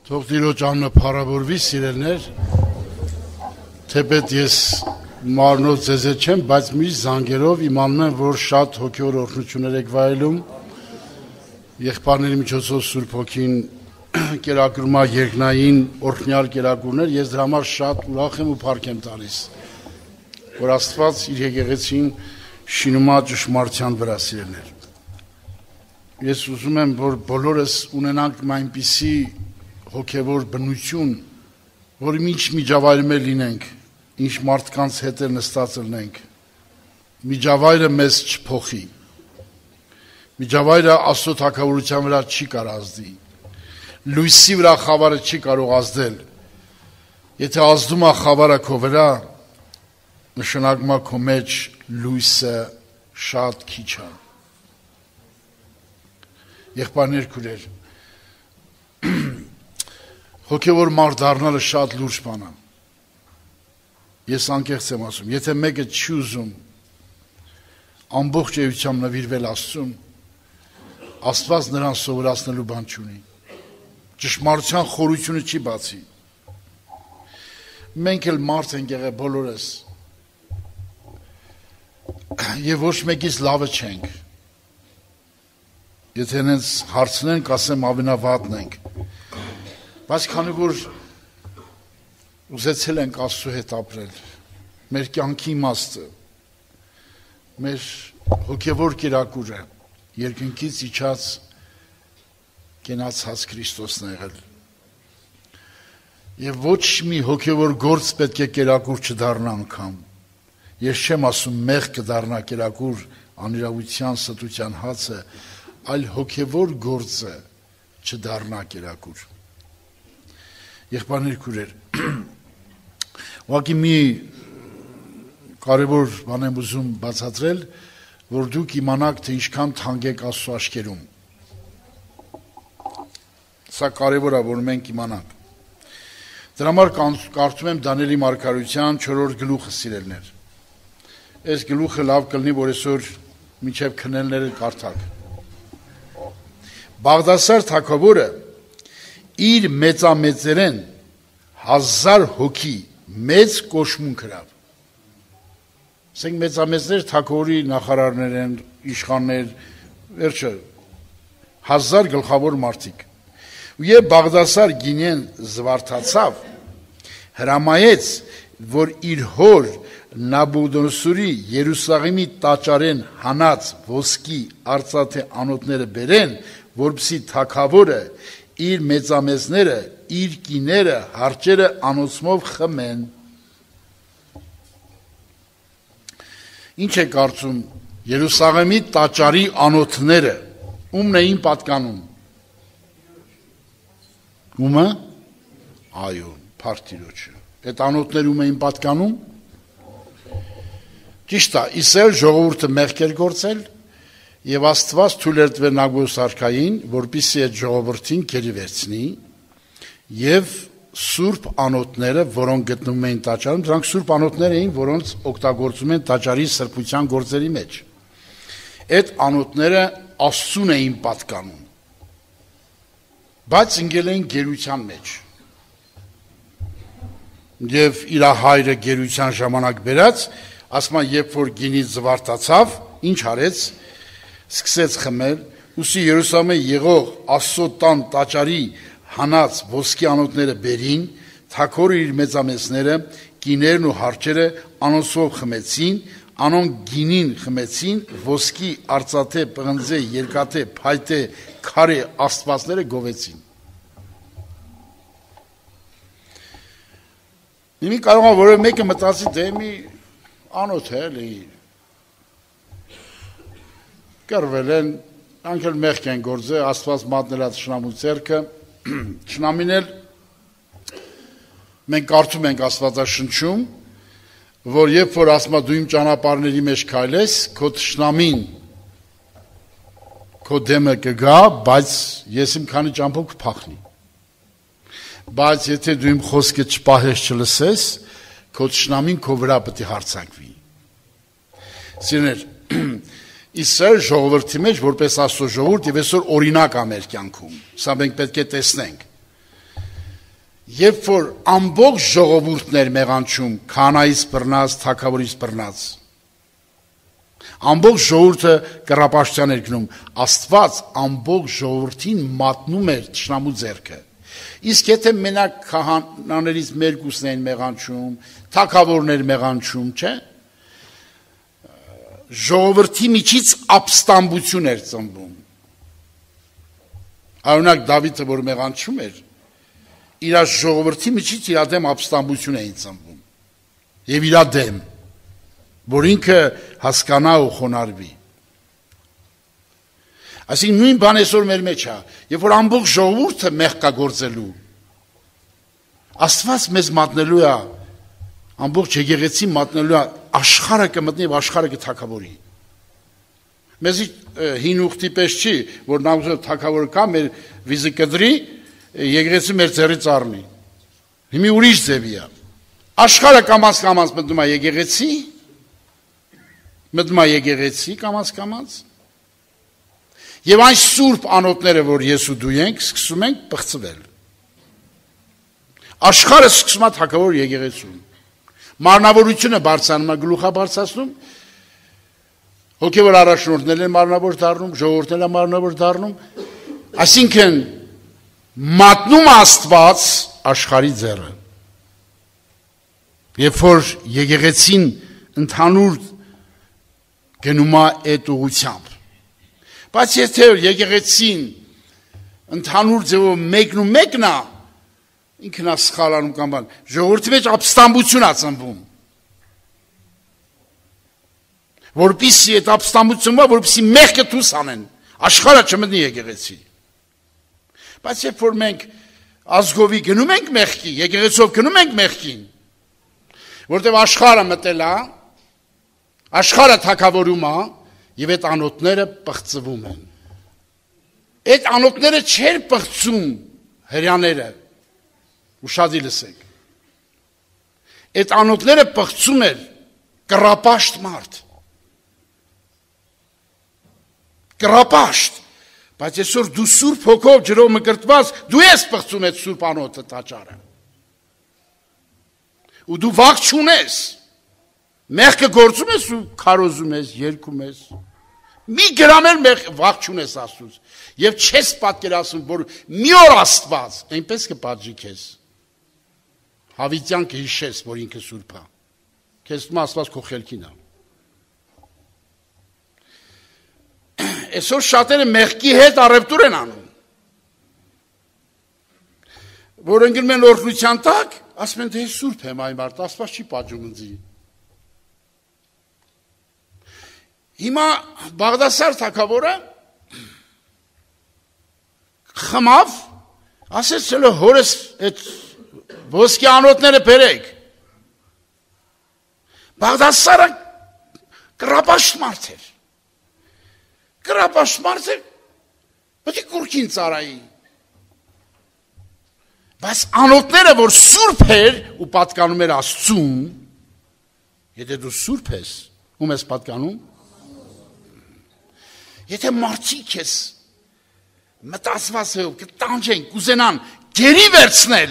Թող Տիրոջ անունը փառավորվի, սիրելներ, թեպետ ես մարմնով ձեզ չեմ, բայց միշտ զանգերով իմանում եմ, որ շատ հոգևոր օրհնություններ եք վայելում, եղբայրների միջոցով Սուրբ Հոգին կերակրում է երկնային օրհնյալ կերակուրներ, ես դրա համար շատ ուրախ եմ ու փառք եմ տալիս, որ Աստված իր եկեղեցին շինում է ճշմարտության վրա, սիրելներ։ Ես ուզում եմ, որ բոլորս ունենանք այնպիսի հոգևոր բնություն, որ ինչ միջավայրում լինենք, ինչ մարդկանց հետ նստած լինենք, միջավայրը մեզ չփոխի, միջավայրը Աստծո թագավորության վրա չի կարող ազդի, լույսի վրա խավարը չի կարող ազդել, եթե ազդում է խավարը քո վրա, նշանակում է քո մեջ լույսը շատ քիչ է։ Եղբայրներ, քույրեր, հոգևոր մարդ դառնալը շատ լուրջ բան է։ Ես անկեղծ եմ ասում, եթե մեկը չի ուզում ամբողջ էությամբ նվիրվել Աստծուն, Աստված նրան սովորացնելու բան չունի։ Ճշմարտության խորությունը չի բացի։ Մենք էլ մարդ ենք եղել բոլորս, եւ ոչ մեկից լավը չենք։ Եթե հենց հարցնեն, կասեմ ամենավատն ենք։ Բայց քանի որ ուզեցել ենք Աստծո հետ ապրել, մեր կյանքի իմաստը, մեր հոգևոր կերակուրը երկնքից իջած կենացած Քրիստոսն է եղել։ Եվ ոչ մի հոգևոր գործ պետք է կերակուր չդառնա անգամ։ Ես չեմ ասում մեղ կդառնա կերակուր անիրավության ստության հացը, այլ հոգևոր գործը չդառնա կերակուր։ Եղբայրներ, քույրեր, ուղղակի մի կարևոր բան եմ ուզում բացատրել, որ դուք իմանաք, թե ինչքան թանկ եք Աստծո աչքերում։ Սա կարևոր է, որ մենք իմանանք։ Դրա համար կարդում եմ Դանիելի մարգարեության 4-րդ գլուխը, սիրելներ։ Այս գլուխը լավ կլինի, որ այսօր մինչև քնելները կարդաք։ Բաղդասար թագավորը իր մեծամեծերեն 1000 հոգի մեծ կոշմունք հրավ։ Ասենք մեծամեծներ թագավորի նախարարներ են, իշխաններ, վերջը 1000 գլխավոր մարդիկ։ Եվ Բաղդասար գինեն զվարթացավ, հրամայեց, որ իր հոր Նաբուկոդոնոսորի Երուսաղեմի տաճարեն հանած ոսկի արծաթե անոթները բերեն, որպեսզի թագավորը իր մեծամեծները, իր կիները, հարճերը անոցմով խմեն։ Ինչ է կարծում Երուսաղեմի տաճարի անոթները ումն էին պատկանում։ Ումը? Այո, փառք Տիրոջը։ Այդ անոթները ում էին պատկանում։ Ճիշտ է, Իսրայել ժողովուրդը մեղք էր գործել եւ Աստված թույլ էր տվել Նաբուկոդոնոսոր արքային, որպեսզի այդ ժողովրդին գերի վերցնի եւ սուրբ անոթները, որոնք գտնվում էին տաճարում, դրանք սուրբ անոթներ էին, որոնց օգտագործում են տաճարի սրբության գործերի մեջ։ Այդ անոթները Աստծուն էին պատկանում, բայց ընկել էին գերության մեջ։ Եվ իր հայրը գերության ժամանակ բերած, ասում են, երբ որ գինից զվարթացավ, ինչ արեց, սկսեց խմել, ուստի Երուսաղեմի եղող Աստծո տան տաճարի հանած ոսկի անոթները բերին, թագավորը իր մեծամեծները, կիներն ու հարճերը անոնցով խմեցին, անոնք գինին խմեցին, ոսկի արծաթե, պղնձե, երկաթե, փայտե, քարե աստվածները գովեցին։ Նույնիսկ կարող է որևէ մեկը մտածի, դե մի անոթ է, էլի կռվել են, անքել մեղք են գործել, Աստված մատնել է թշնամու ձեռքը, թշնամին էլ մենք կարդում ենք Աստվածաշնչում, որ երբ որ ասում է դու իմ ճանապարհների մեջ քայլես, քո թշնամին քո դեմը կգա, բայց ես իմ քանի ճամփով կփախնի։ Բայց եթե դու իմ խոսքը չպահես, չլսես, քո թշնամին քո վրա պետք է հարձակվի։ Սիրներ, Իսրայել ժողովրդի մեջ որպես Աստծո ժողովուրդ եւ այսօր օրինակ է մեր կյանքում։ Սա մենք պետք է տեսնենք։ երբ որ ամբողջ ժողովուրդներ մեղանչում, քահանայից բռնած, թագավորից բռնած, ամբողջ ժողովուրդը կռապաշտության էր գնում, Աստված ամբողջ ժողովրդին մատնում էր թշնամու ձեռքը։ Իսկ եթե մենակ քահանաներից մերկուսն էին մեղանչում, թագավորներ մեղանչում, չէ՞, ժողովրդի միջից ապստամբություն էր ծնվում։ Օրինակ Դավիթը, որ մեղանչում էր, իր ժողովրդի միջից իր դեմ ապստամբություն էին ծնվում եւ իր դեմ, որ ինքը հասկանա ու խոնարհվի։ Այսինքն նույն բան այսօր մեր մեջ է, երբ որ ամբողջ ժողովուրդը մեղք կա գործելու, Աստված մեզ մատնելու է, ամբողջ եկեղեցին մատնելու է, աշխարհը կմտնի եւ աշխարհը կթակավորի։ Մեզ հին ուխտի պես չի, որ նա թակավորը կա, մեր վիզը կդրի, եկեղեցի մեր ձեռից առնի։ Հիմի ուրիշ ձևի է։ Աշխարհը կամաց մտնում է եկեղեցի, կամաց, եւ այն սուրբ անոթները, որ ես ու դու ենք, սկսում ենք պղծվել։ Աշխարհը սկսում է թակավոր եկեղեցուն։ Մարմնավորությունը բարձրանում է, գլուխը բարձրացնում, հոգևոր առաջնորդներն են մարմնավոր դառնում, ժողովուրդն է մարմնավոր դառնում, այսինքն մատնում Աստված աշխարհի ձեռը։ Երբ որ եկեղեցին ընդհանուր գնում է այդ ուղղությամբ։ Բայց եթե եկեղեցին ընդհանուր ձևով մեկն է, ինքն է սխալանում կամ բան, ժողովրդի մեջ ապստամբություն է ծնվում։ Որպեսզի այդ ապստամբությունը, որպեսզի մեղքը դուրս անեն, աշխարհը չմտնի եկեղեցի։ Բայց երբ որ մենք ազգովի գնում ենք մեղքի, եկեղեցով գնում ենք մեղքին, որտեղ աշխարհը մտել է, աշխարհը թակավորում է, եւ այդ անոթները պղծվում են։ Այդ անոթները չեր պղծում հрьяաները, ուշադի լսեք։ Այդ անոթները պղծում էր կռապաշտ մարդ։ Կռապաշտ, բայց այսօր դու սուրբ հոգով ջրով մկրտված, դու ես պղծում այդ սուրբ անոթը տաճարը։ Ու դու վախ չունես։ Մեղքը գործում ես ու քարոզում ես, երգում ես։ Մի գրամ էլ վախ չունես Աստծուց։ Եվ չես պատկերացնում, որ մի օր Աստված այնպես կպատժի քեզ։ Հավիտյան կհիշես, որ ինքը սուրբ է։ Քեզ թվում Աստված քո խելքին է։ Այսօր շատերը մեղքի հետ առևտուր են անում։ Որ ընկնում են օրհնության տակ, ասում են, դե սուրբ եմ այ մարդ, Աստված չի պատժում ինձ։ Հիմա Բաղդասար թագավորը խմավ, ասեց ցելո հորս այդ ոսկի անոթները բերեք։ Բաղդասարը կռապաշտ մարդ էր։ Կռապաշտ մարդ էր, պետք է կուրքին ծարայի։ Բայց անոթները, որ սուրբ էր ու պատկանում էր Աստծուն, եթե դու սուրբ ես, ում ես պատկանում, եթե մարդիկ ես մտածված է, կտանջեն, կուզենան գերի վերցնել,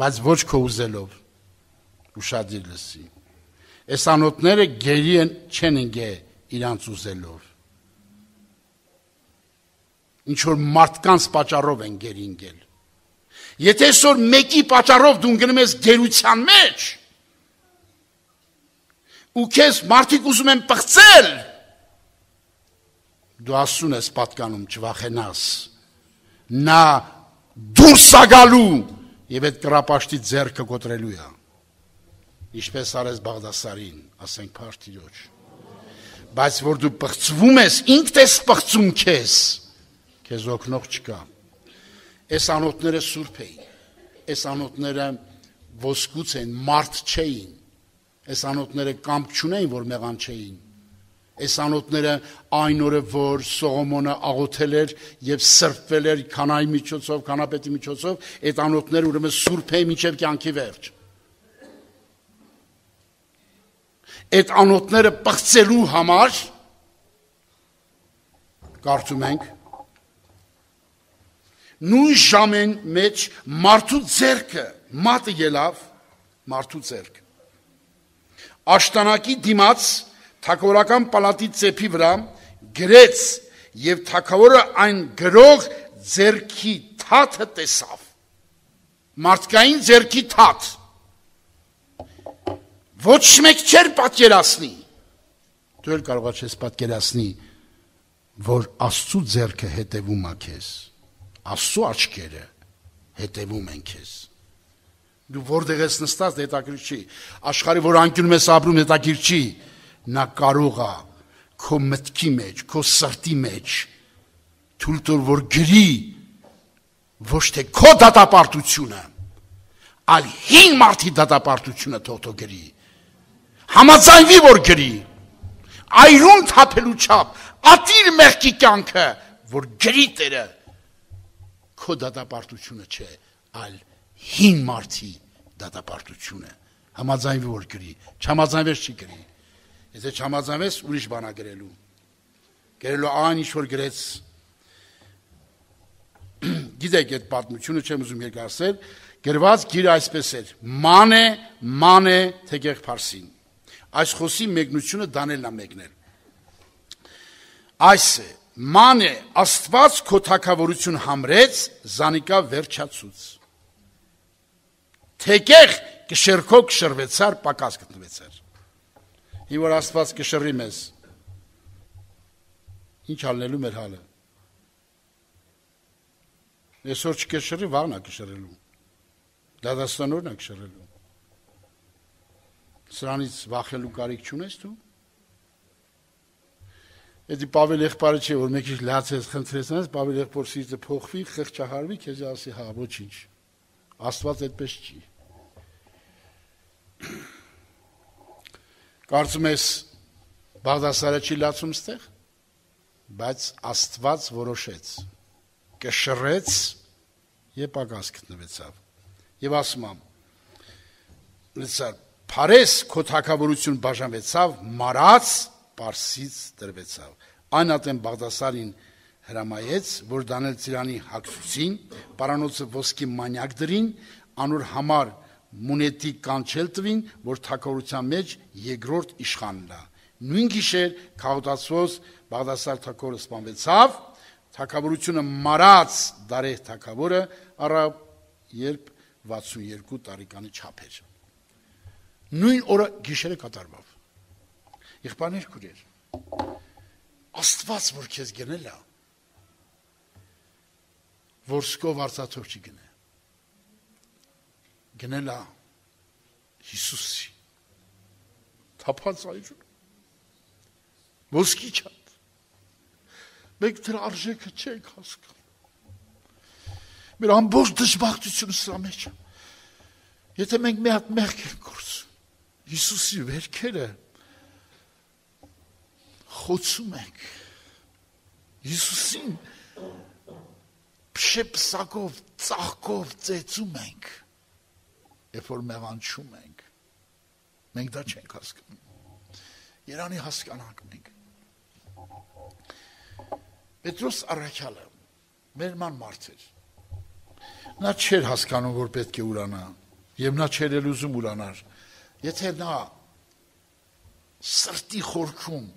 բայց ոչ քո ուզելով, ուշադիր լսի, այս անոթները գերի չեն ընգե իրանց ուզելով, ինչ-որ մարդկանց պատճառով են գերի ընգել, եթե այսօր մեկի պատճառով դու ընկնում ես գերության մեջ, ու քեզ մարդիկ ուզում են պղծել, դու Աստծուն ես պատկանում, չվախենաս, նա դուրս ագալու եւ այդ կռապաշտի ձեռքը կոտրելու է, ինչպես արեց Բաղդասարին, ասենք Փարթիրոջ, բայց որ դու պղծվում ես, ինքդ ես պղծում քեզ օգնող չկա, այս անոթները սուրբ էին, այս անոթները ոսկուց էին, մարդ չէին, այս անոթները կամք չունեին, որ մեղան չէին, այս անոթները այն օրը, որ Սողոմոնը աղոթել էր եւ սրբվել էր քանայի միջոցով, քանապետի միջոցով, այդ անոթները ուրեմն սուրբ էին մինչեւ կյանքի վերջ։ Այդ անոթները պղծելու համար կարծում ենք նույն ժամեն մեջ մարդու ձեռքը մատը ելավ մարդու ձեռք աշտանակի դիմաց թագավորական պալատի ծեփի վրա գրեց եւ թագավորը այն գրող ձեռքի թաթը տեսավ մարդկային ձեռքի թաթ ոչ մեկ չէր պատկերացնի դու էլ կարող ես պատկերացնի որ Աստծո ձեռքը հետևում է քեզ Աստծո աչքերը հետևում են քեզ դու որտեղ ես նստած հետաքրքիր չի աշխարհի որ անկյունում ես ապրում հետաքրքիր չի նա կարող է քո մտքի մեջ քո սրտի մեջ թույլ տուր որ գրի ոչ թե քո դատապարտությունը այլ հին մարդի դատապարտությունը թող գրի համաձայնվի որ գրի այրուն թափելու չափ ատիր մեղքի կյանքը որ գրի Տերը քո դատապարտությունը չէ այլ հին մարդի դատապարտությունը համաձայնվի որ գրի չհամաձայնվես չի գրի եթե չհամաձայնվես ուրիշ բան է գրելու այն ինչ որ գրեց գիտեք այդ պատմությունը չեմ ուզում երկարացնել գրված գիրը այսպես էր մանե թեգեղ Փարսին այս խոսի մեկնությունը Դանիելն է մեկնել այս է մանե Աստված քո թագավորություն համրեց զանիկա վերջացուց թեգեղ կշերքո կշրվեցար պակաս գտնվեցար Ինչ որ Աստված կշռի մեզ ինչ ալնելու մեր հալը Այսօր չկշռի վաղն է կշռելու դադաստանորն է կշռելու Սրանից վախելու կարիք չունես դու Էդի Պավել եղբայրը չէ որ մեկ ինչ լացես խնդրեցնես Պավել եղբոր սիրտը փոխվի խղճահարվի քեզ ասի հա ոչինչ Աստված այդպես չի Կարծում ես Բաղդասարը չի լացում ստեղ բայց Աստված որոշեց կշռեց եւ պակաս գտնվեցավ եւ ասում եմ լսար Փարես քո թագավորություն բաժանվեցավ մարած Պարսից տրվեցավ այն ատեն Բաղդասարին հրամայեց որ Դանիել ծիրանի հագցուցին պարանոցը ոսկի մանյակ դրին անոր համար մունետի կանչել տվին որ թագավորության մեջ երկրորդ իշխանն է նույն գիշեր քաղաքացիոս Բաղդասար թագավորը սպանվեցավ թագավորությունը մարած Դարեհ թագավորը առավ երբ 62 տարեկանի չափ էր նույն օրը գիշերը կատարվավ եղբայրներ քուրեր Աստված որ քեզ գնել է որ սկով արծաթով չի գնել է Հիսուսի թափած այրուն ոսկի չափ մենք դրա արժեքը չենք հասկանում մեր ամբողջ դժբախտությունը սրա մեջ եթե մենք մի հատ մեղք ենք գործում Հիսուսի վերքերը խոցում ենք Հիսուսին փշեպսակով ծաղկով ծեծում ենք երբ որ մեղանչում ենք մենք դա չենք հասկանում Երանի հասկանանք մենք Պետրոս առաքյալը մեր ման մարդ էր նա չէր հասկանում որ պետք է ուրանա եւ նա չէր էլ ուզում ուրանար եթե նա սրտի խորքում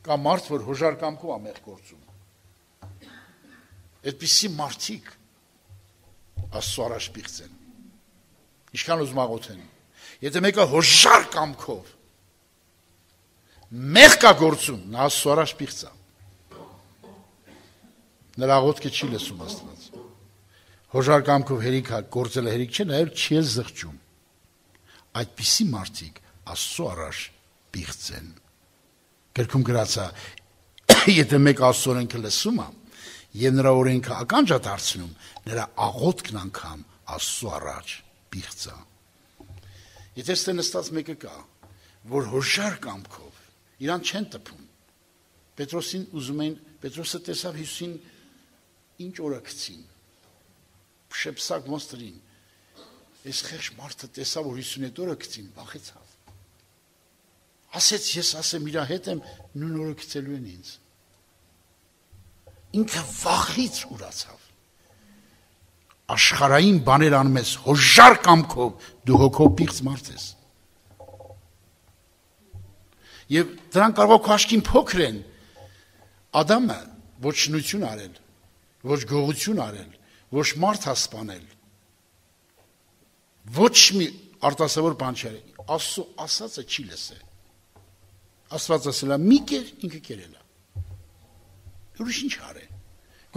կա մարդ որ հոժար կամքով է մեղ գործում այդպիսի մարդիկ Աստծո առաջ պիղծ են ինչքան ուզում աղոթեն եթե մեկը հոժար կամքով մեղ կա գործում նա Աստծո առաջ պիղծ է նրա աղոթքը չի լսում Աստված հոժար կամքով հերիք գործելը հերիք չէ նաև չի էլ զղջում այդպիսի մարդիկ Աստծո առաջ պիղծ են գրքում գրած է եթե մեկ Աստծո օրենքը լսում է եւ նրա օրենքը ականջ է դարձնում նրա աղոթքն անգամ Աստծո առաջ պիղծ է եթե ստե նստած մեկը կա որ հոժար կամքով իրան չեն տպում Պետրոսին ուզում են Պետրոսը տեսավ Հիսուսին ինչ օրը գցին շեպսակ մոստրին Այս խեղճ մարդը տեսավ որ 50 օրը գցին վախեցավ ասեց ես ասեմ իր հետ եմ նույն օրը գցելու են ինձ ինքը վախից ուրացավ աշխարհային բաներ անում ես հոժար կամքով, դու հոգով պիղծ մարդ ես։ Եվ դրանք կարող քո աչքին փոքր են։ Ադամը ոչ շնություն արել, ոչ գողություն արել, ոչ մարդ հասպանել, ոչ մի արտասովոր բան չի արել։ Աստծո ասածը չի լսել։ Աստված ասել է՝ մի կեր, ինքը կերել է։ Ուրիշ ինչ արել։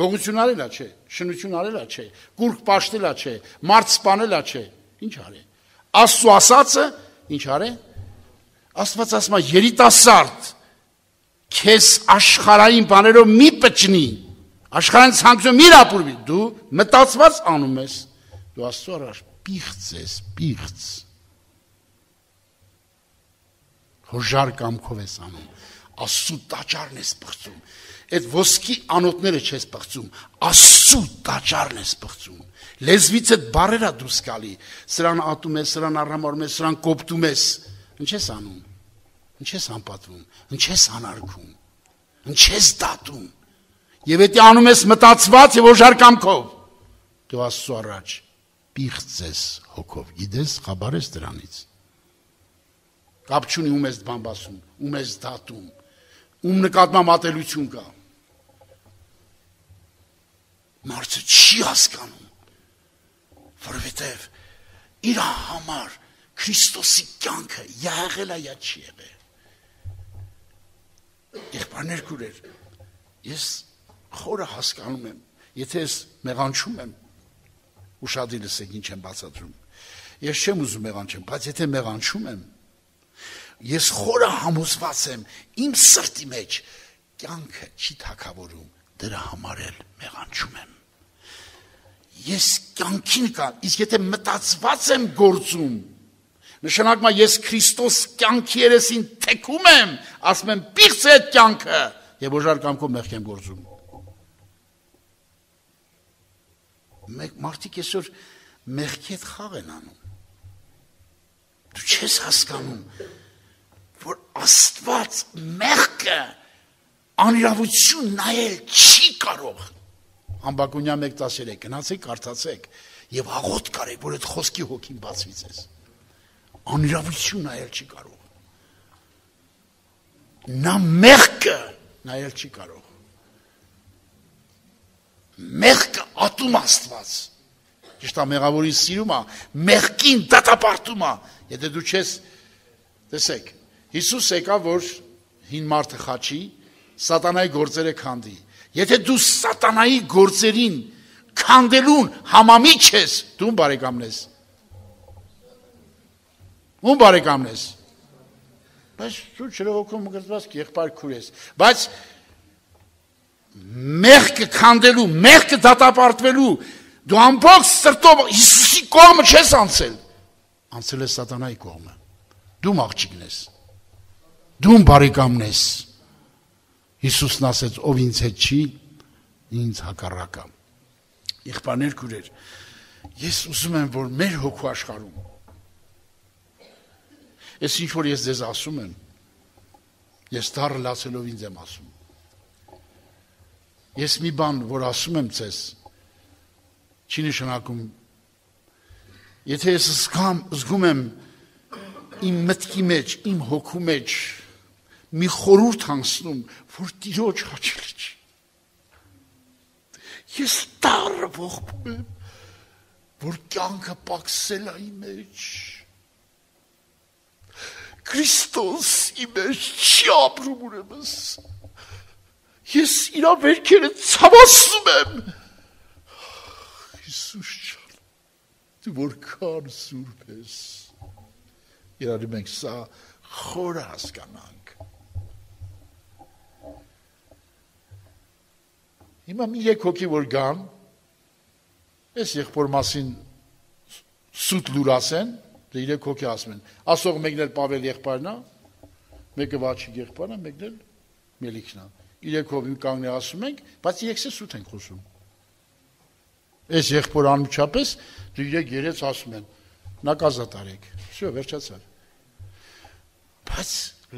Գողություն արելա չէ, շնություն արելա չէ, կուրք պաշտելա չէ, մարդ սպանելա չէ, ինչ արել։ Աստծո ասածը ինչ արել։ Աստված ասում է՝ երիտասարդ, քեզ աշխարհային բաներով մի պճնի, աշխարհային ցանկությամբ մի ապուրվի, դու մտածված անում ես, դու Աստծո առաջ պիղծ ես, պիղծ։ Հոժար կամքով ես անում, Աստծո տաճարն ես պղծում, այդ ոսկի անոթները չես պղծում, Աստծո տաճարն ես պղծում, լեզվից այդ բառերը դուրս գալի, սրան ատում ես, սրան առհամարում ես, սրան կոպտում ես, ինչ ես անում, ինչ ես անպատվում, ինչ ես անարգում, ինչ ես դատում, եւ եթե անում ես մտածված եւ հոժար կամքով, դու Աստծո առաջ պիղծ ես հոգով, գիտես, խաբար ես դրանից։ Կապ չունի ում ես բամբասում, ում ես դատում, ում նկատմամբ ատելություն կա։ Մարդը չի հասկանում, որովհետև իր համար Քրիստոսի կյանքը յա եղել է, յա չի եղել։ Եղբայրներ քուրեր, ես խորը հասկանում եմ, եթե ես մեղանչում եմ, ուշադիր լսեք ինչ եմ բացատրում։ Ես չեմ ուզում մեղանչեմ, բայց եթե մեղանչում եմ, ես խորը համոզված եմ իմ սրտի մեջ կյանքը չի թակավորում, դրա համար էլ մեղանչում եմ։ Ես կյանքին կա, իսկ եթե մտածված եմ գործում, նշանակում է ես Քրիստոս կյանքի երեսին թեքում եմ, ասում եմ պիղծ է այդ կյանքը եւ հոժար կամքով մեղք եմ գործում։ Մարդիկ այսօր մեղքի հետ խաղ են անում։ Դու չես հասկանում, որ Աստված մեղքը անիրավություն նայել չի կարող։ Համբակունյան 1:13 գնացեք, կարդացեք եւ աղոթ կարեք, որ այդ խոսքի հոգին բացվի ձեզ։ Անիրավություն նայել չի կարող։ Նա մեղքը նայել չի կարող։ Մեղքը ատում Աստված։ Ճիշտ է, մեղավորին սիրում է, մեղքին դատապարտում է։ Եթե դու չես, տեսեք, Հիսուս եկավ, որ հին մարդը խաչի, սատանայի գործերը քանդի։ Եթե դու սատանայի գործերին քանդելուն համամիջ ես, դու բարեկամն ես։ Ում բարեկամն ես։ Բայց դու չրողոքում գրծված եղբայր քուր ես։ Բայց մեղքը քանդելու, մեղքը դատապարտվելու, դու ամբողջ սրտով Հիսուսի կողմը չես անցել։ Անցել ես սատանայի կողմը։ Դու աղջիկն ես։ Դու բարեկամն ես։ Հիսուսն ասեց, ով ինձ հետ չի, ինձ հակառակա։ Եղբայրներ քուրեր, ես ուզում եմ, որ մեր հոգու աշխարհում Ես ինչ որ ես ձեզ ասում եմ, ես դառը լացելով ինձ եմ ասում։ Ես մի բան, որ ասում եմ ձեզ, չի նշանակում, եթե ես զգում եմ իմ մտքի մեջ, իմ հոգու մեջ, մի խորհուրդ անցնում, որ Տիրոջ հաճելի չի։ Ես դառը ողբում եմ, որ կյանքը պակսել է իմ մեջ։ Քրիստոս իմ մեջ չի ապրում ուրեմն։ Ես իր վերքերը ցավացնում եմ։ Հիսուս ջան, դու որքան սուրբ ես։ Իրար մենք սա խորը հասկանանք։ Հիմա մի երեք հոգի որ գան, այս եղբոր մասին սուտ լուր ասեն, դե երեք հոգի ասում են, ասող մեկն էլ Պավել եղբայրն է, մեկը Վաչիկ եղբայրն է, մեկն էլ Մելիքն է։ Երեք հոգի կանգնի ասում ենք, բայց երեքսը սուտ ենք խոսում։ Այս եղբոր անմիջապես դու երեք երեց ասում են, նակազատ արեք։ Всё, վերջացավ։ Բայց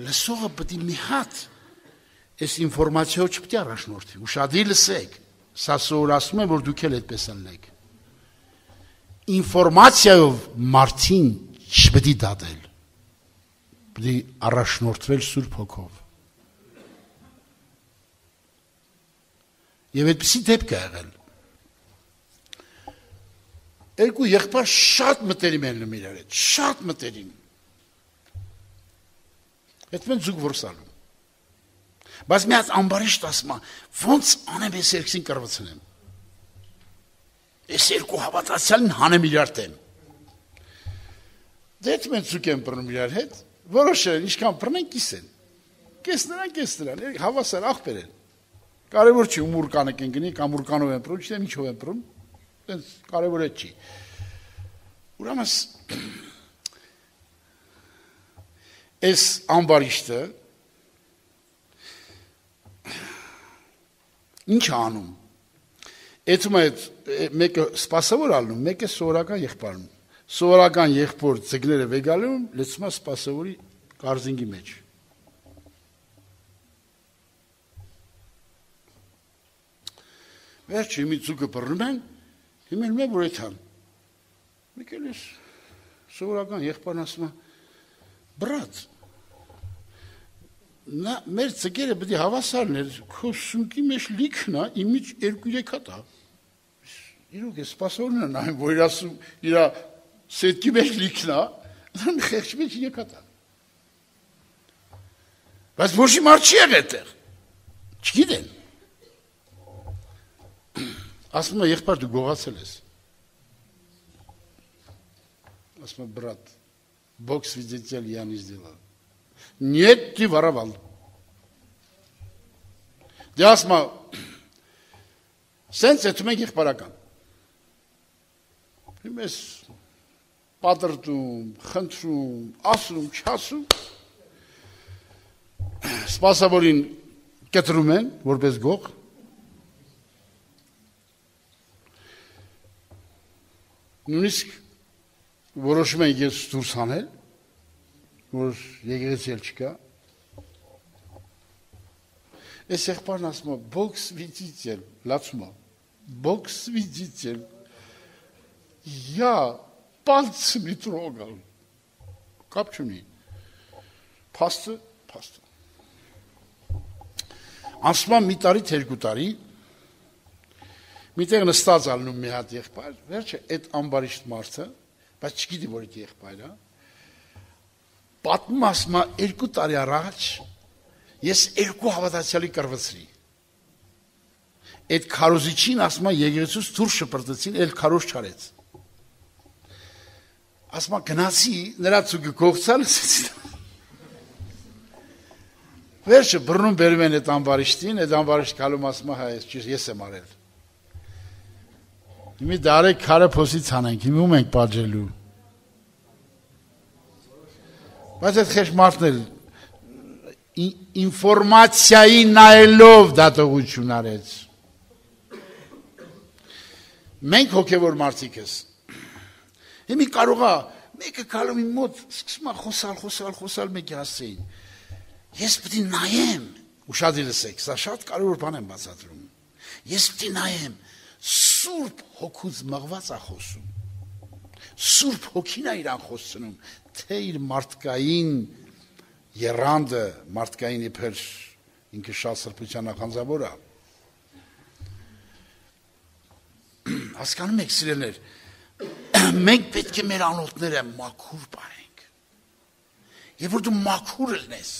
լսողը պետք է մի հատ այս ինֆորմացիա չպետք է առաջնորդի։ Ուշադիր լսեք։ Սա սովորացնում եմ, որ դուք էլ այդպես ելնեք։ ինֆորմացիայով մարդին չպետք է դատել, պետք է առաջնորդվել Սուրբ Հոգով։ Եվ այդպիսի դեպք է եղել։ Երկու եղբայր շատ մտերիմ են լինում իրար հետ, շատ մտերիմ։ Այդ մեն զուգ որսալու։ Բայց մի հատ ամբարիշտ ասում է, ոնց անեմ ես երկսին կրվացնեմ։ Ես երկու հավատացյալին հանեմ իրար դեմ։ Դետ մեն զուգ են բռնում իրար հետ, որոշել ինչքան բռնեն կիսեն։ Կես նրան, հավասար աղբեր են։ Կարևոր չի ում ուրկանը կենգնի, կամ ուրկանով են բռում, չիտեմ ինչով են բռում, տենց կարևոր է չի։ Ուրեմն այս ամբարիշտը ինչ է անում։ Էդում է մեկը սպասավոր ալնում, մեկը սովորական եղբայրն։ Սովորական եղբոր ձգները վեգալում, լցում է սպասավորի կարզինգի մեջ։ Վերջի մի ծուկը բռնում են, հիմեն մե որ էթան։ Մեկել ես սովորական եղբայրն ասում է, բրատ, մեր ձգերը պետք է հավասարն էր, քո սունկի մեջ լիքն է, իմիջ 2-3 հատ է։ Իրոք է սպասավորն է նայում, որ իր սետքի մեջ լիքն է, մի խեղճի մեջ 3 հատ է։ Բայց ոչի մարդ չի եղել այդտեղ։ Չգիտեն։ Ասում է եղբայր դու գողացել ես։ Ասում է брат, Бог свидетель, я не сделал. Нет, ты воровал. Դե ասում է սենց էթում ենք եղբայրական։ Հիմես պատրտում, խնդրում, ասում, չասում, սպասավորին կտրում են, որպես գող, նույնիսկ որոշում են ես դուրս հանել, որ եկեղեցի էլ չկա, այս եղբայրն ասում է, Бог свидетель, լացում է, Бог свидетель, я пальцем не трогал, կապ չունի, փաստը, ասում է մի տարի, 2 տարի, միտեղ նստած ալնում մի հատ եղբայր, վերջը այդ ամբարիշտ մարդը, բայց չգիտի որ այդ եղբայրը, պատմում ասում է 2 տարի առաջ ես 2 հավատացյալի կրվեցրի։ Այդ քարոզիչին ասում է եկեղեցուց դուրս շպրտեցին, էլ քարոզ չարեց։ Ասում է գնացի նրա ծուգը կողցալ, վերջը բռնում բերում են այդ ամբարիշտին, այդ ամբարիշտ կալում ասում է հա ես եմ արել։ Հիմի դարեք քարը փոսից հանենք, հիմի ում ենք պատժելու։ Բայց այդ խեղճ մարդն էլ ինֆորմացիայի նայելով դատողություն արեց։ Մենք հոգևոր մարդիկ ես։ Հիմի կարող է մեկը գալու իմ մոտ սկսում է խոսալ մեկի հասցեին։ Ես պետք է նայեմ, ուշադիր լսեք, սա շատ կարևոր բան եմ բացատրում։ Ես պետք է նայեմ, Սուրբ Հոգուց մղված է խոսում։ Սուրբ Հոգին է իրան խոսում, թե իր մարդկային երանդը, մարդկային իբր ինքը շատ սրբության նախանձավոր է։ Հասկանում եք սիրելիներ, մենք պետք է մեր անոթները մաքուր պահենք։ Եվ որ դու մաքուր լնես,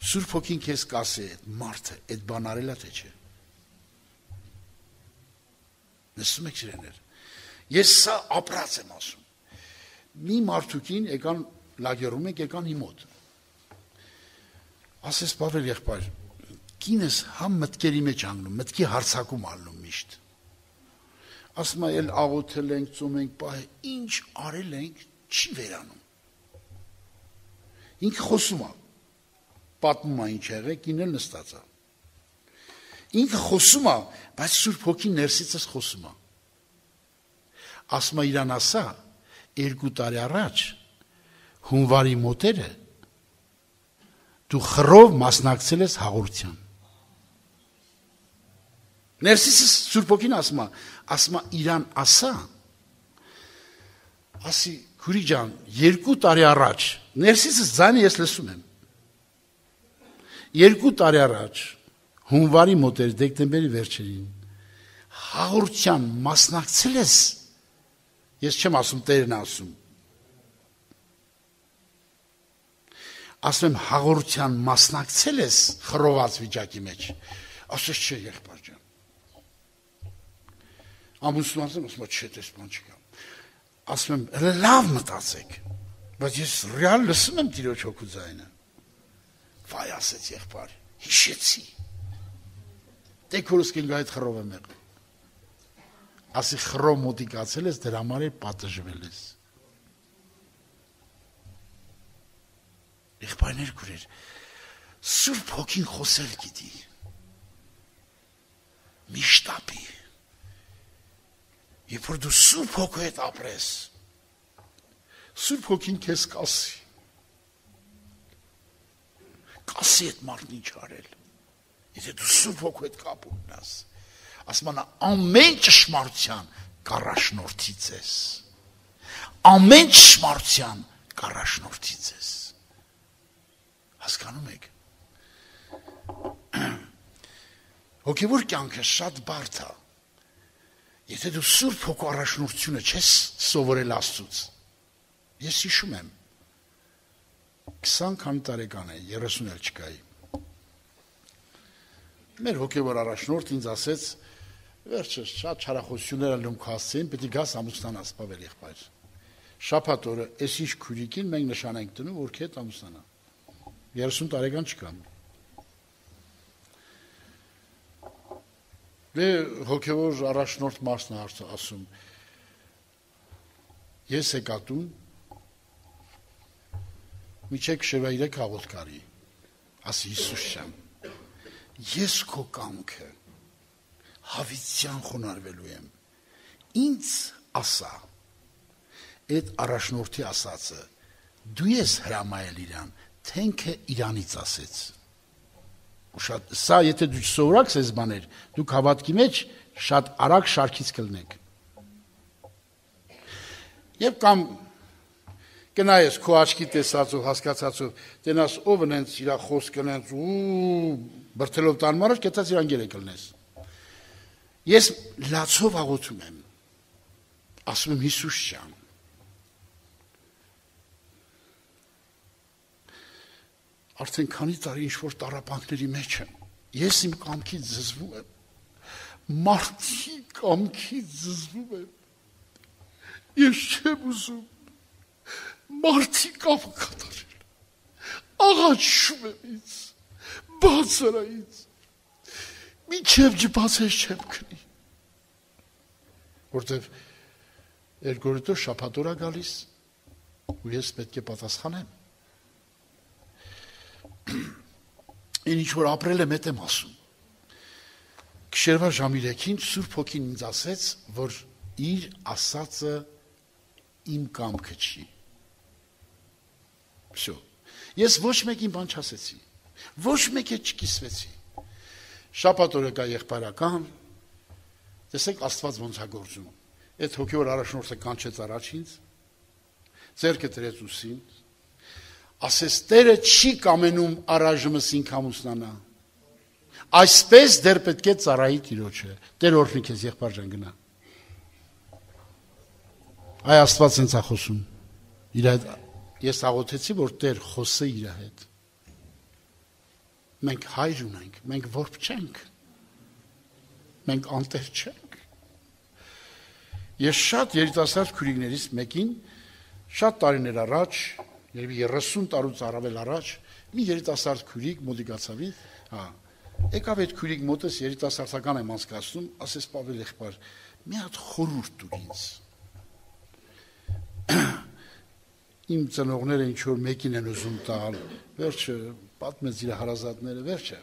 Սուրբ Հոգին քեզ կասի այդ մարդը, այդ բան արել է թե չէ։ Լսում եք սիրելիներ։ Ես սա ապրած եմ ասում։ Մի մարդուկին եկան լագերում եք, եկան իմ մոտ։ Ասես Պավել եղբայր, կինս համ մտքերի մեջ անգնում, մտքի հարցակում ալնում միշտ։ Ասում է, էլ աղոթել ենք, ծոմ ենք, պահ, ինչ արել ենք, չի վերանում։ Ինքը խոսում է, պատմում է ինչ եղել, կինը նստած է։ Ինքը խոսում է, բայց Սուրբ Հոգին ներսիցս խոսում է։ Ասում է իրան ասա, 2 տարի առաջ հունվարի մոտերը դու խռով մասնակցել ես հաղորդության։ Ներսիսս Սուրբ Հոգին ասում է իրան ասա, ասի քուրի ջան, 2 տարի առաջ, ներսիսս ձայնը ես լսում եմ, 2 տարի առաջ, հունվարի մոտ էր, դեկտեմբերի վերջերին, հաղորդության մասնակցել ես, ես չեմ ասում, Տերն ասում, ասում եմ հաղորդության մասնակցել ես խռոված վիճակի մեջ, ասես չէ եղբայր ջան, ամուսնու ասում չէ, տես բան չկա, ասում եմ լավ մտածեք, բայց ես ռեալ լսում եմ Տիրոջ հոգու ձայնը, վայ ասեց եղբայր, հիշեցի, դե քորս կինգա այդ խռով եմ եղել, ասի խռով մոտիկացել ես, դրա համար էլ պատժվել ես, եղբայրներ քուրեր, Սուրբ Հոգին խոսել գիտի, միշտապի, երբ որ դու Սուրբ Հոգու հետ ապրես, Սուրբ Հոգին քեզ կասի այդ մարդն ինչ արել, եթե դու Սուրբ Հոգու հետ կապ ունենաս, ասում նա ամեն ճշմարտության կառաջնորդի ձեզ, ամեն ճշմարտության կառաջնորդի ձեզ, հասկանում եք, հոգևոր կյանքը շատ բարդ է, եթե դու Սուրբ Հոգու առաջնորդությունը չես սովորել Աստծուց, ես հիշում եմ, 20 քանի տարեկան է, 30 էլ չկայի, մեր հոգևոր առաջնորդ ինձ ասեց, վերջը շատ չարախոսություններ լումք հասցեին, պետք է գաս ամուսնանաս, Պավել եղբայր, շաբաթ օրը այս ինչ քուրիկին մենք նշան ենք դնում, որ քեզ ամուսնանա, 30 տարեկան չկան, դե հոգևոր առաջնորդ մասն է ասում, ես եկատուն, միջեք շևա 3 հաղորդկարի, ասի Հիսուս շամ, ես քո կամքը հավիտյան խոնարհվելու եմ, ինձ ասա, այդ առաջնորդի ասածը, դու ես հրամայել իրան, թե ինքը իրանից ասեց, սա եթե դու չսովորaks այս բաներ, դուք հավատքի մեջ շատ արագ շարքից կլնեք, և կամ կնայես քո աչքի տեսածով, հասկացածով, տենաս ով ընենց իրա խոսք ընենց ու բրթելով տանում առաջ, կետած իրան գերեք լնես։ Ես լացով աղոթում եմ, ասում եմ Հիսուս ջան, արդեն քանի տարի ինչ-որ տառապանքների մեջ եմ, ես իմ կամքից զզվում եմ, մարդի կամքից զզվում եմ, ես չեմ ուզում, մարդի կապը կատարել, աղաչում եմ ինձ, բացարա ինձ, մինչև ջբացես չեմ քնի, որտև երկորիտոր շաբաթօր է գալիս, ու ես պետք է պատասխանեմ, ինչ որ ապրել եմ էդ եմ ասում, գիշերվա ժամի 3-ին Սուրբ Հոգին ինձ ասեց, որ իր ասածը իմ կամքը չի, Всё. Ես ոչ մեկին բան չասեցի, ոչ մեկ էլ չկիսվեցի, շաբաթ օրը կա եղբայրական, տեսեք Աստված ոնց է գործում, այդ հոգևոր առաջնորդը կանչեց առաջ ինձ, ձեռքը դրեց ուսին, ասեց Տերը չի կամենում առայժմս ինք ամուսնանա, այսպես դեռ պետք է ծառայի Տիրոջը, Տեր օրհնի քեզ եղբայր ջան գնա, այ Աստված ինձ է խոսում, իր այդ Ես աղոթեցի, որ Տեր խոսե իր հետ, մենք հայր ունենք, մենք որբ չենք, մենք անտեր չենք, ես շատ երիտասարդ քուրիկներից մեկին, շատ տարիներ առաջ, 30 տարուց առավել առաջ, մի երիտասարդ քուրիկ մոտիկացավ ինձ, եկավ այդ քուրիկ մոտս երիտասարդական եմ անցկացնում, ասես Պավել եղբայր, մի հատ խորհուրդ տուր ինձ, իմ ծնողները ինչ-որ մեկին են ուզում տալ, վերջը, պատմեց իր հարազատները, վերջը,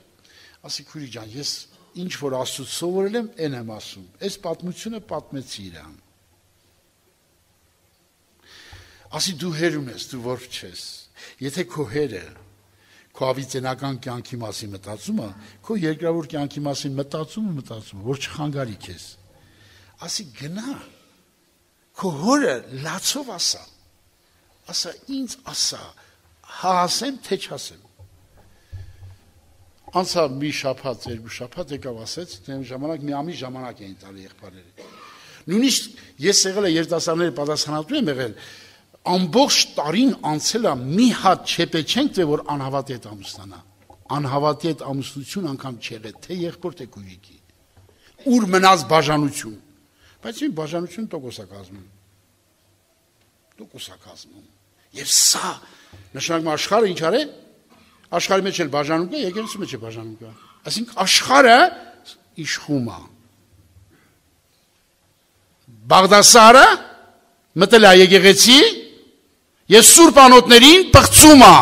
ասի քուրի ջան, ես ինչ-որ Աստծուց սովորել եմ, են եմ ասում, այս պատմությունը պատմեցի իրան, ասի դու հեր ունես, դու որբ չես, եթե քո հերը, քո ավիճենական կյանքի մասին մտածումը, քո երկրավոր կյանքի մասին մտածումը, որ չխանգարի քեզ։ Ասի գնա, քո հորը լացով ասա ինձ ասա, հա ասեմ, թե չասեմ։ Անցա մի շաբաթ, երկու շաբաթ եկավ ասեց, դեմ ժամանակ մի ամիս ժամանակ էին տալի եղբայրերը։ Նույնիսկ ես եղել եմ երիտասարդների պատասխանատու եմ եղել, ամբողջ տարին անցել է մի հատ չեպեչենք, թե որ անհավատի հետ ամուսնանա։ Անհավատի հետ ամուսնություն անգամ չեղել, թե եղբոր թե քույրիկի։ Ուր մնաց բաժանություն։ Բայց մի բաժանություն տոկոս է կազմում։ Եվ սա նշանակում աշխարհը ինչ արե։ Աշխարհի մեջ էլ բաժանում կա, եկեղեցու մեջ է բաժանում կա։ Այսինքն աշխարհը իշխում է։ Բաղդասարը մտել է եկեղեցի եւ սուրբ անոթներին պղծում է։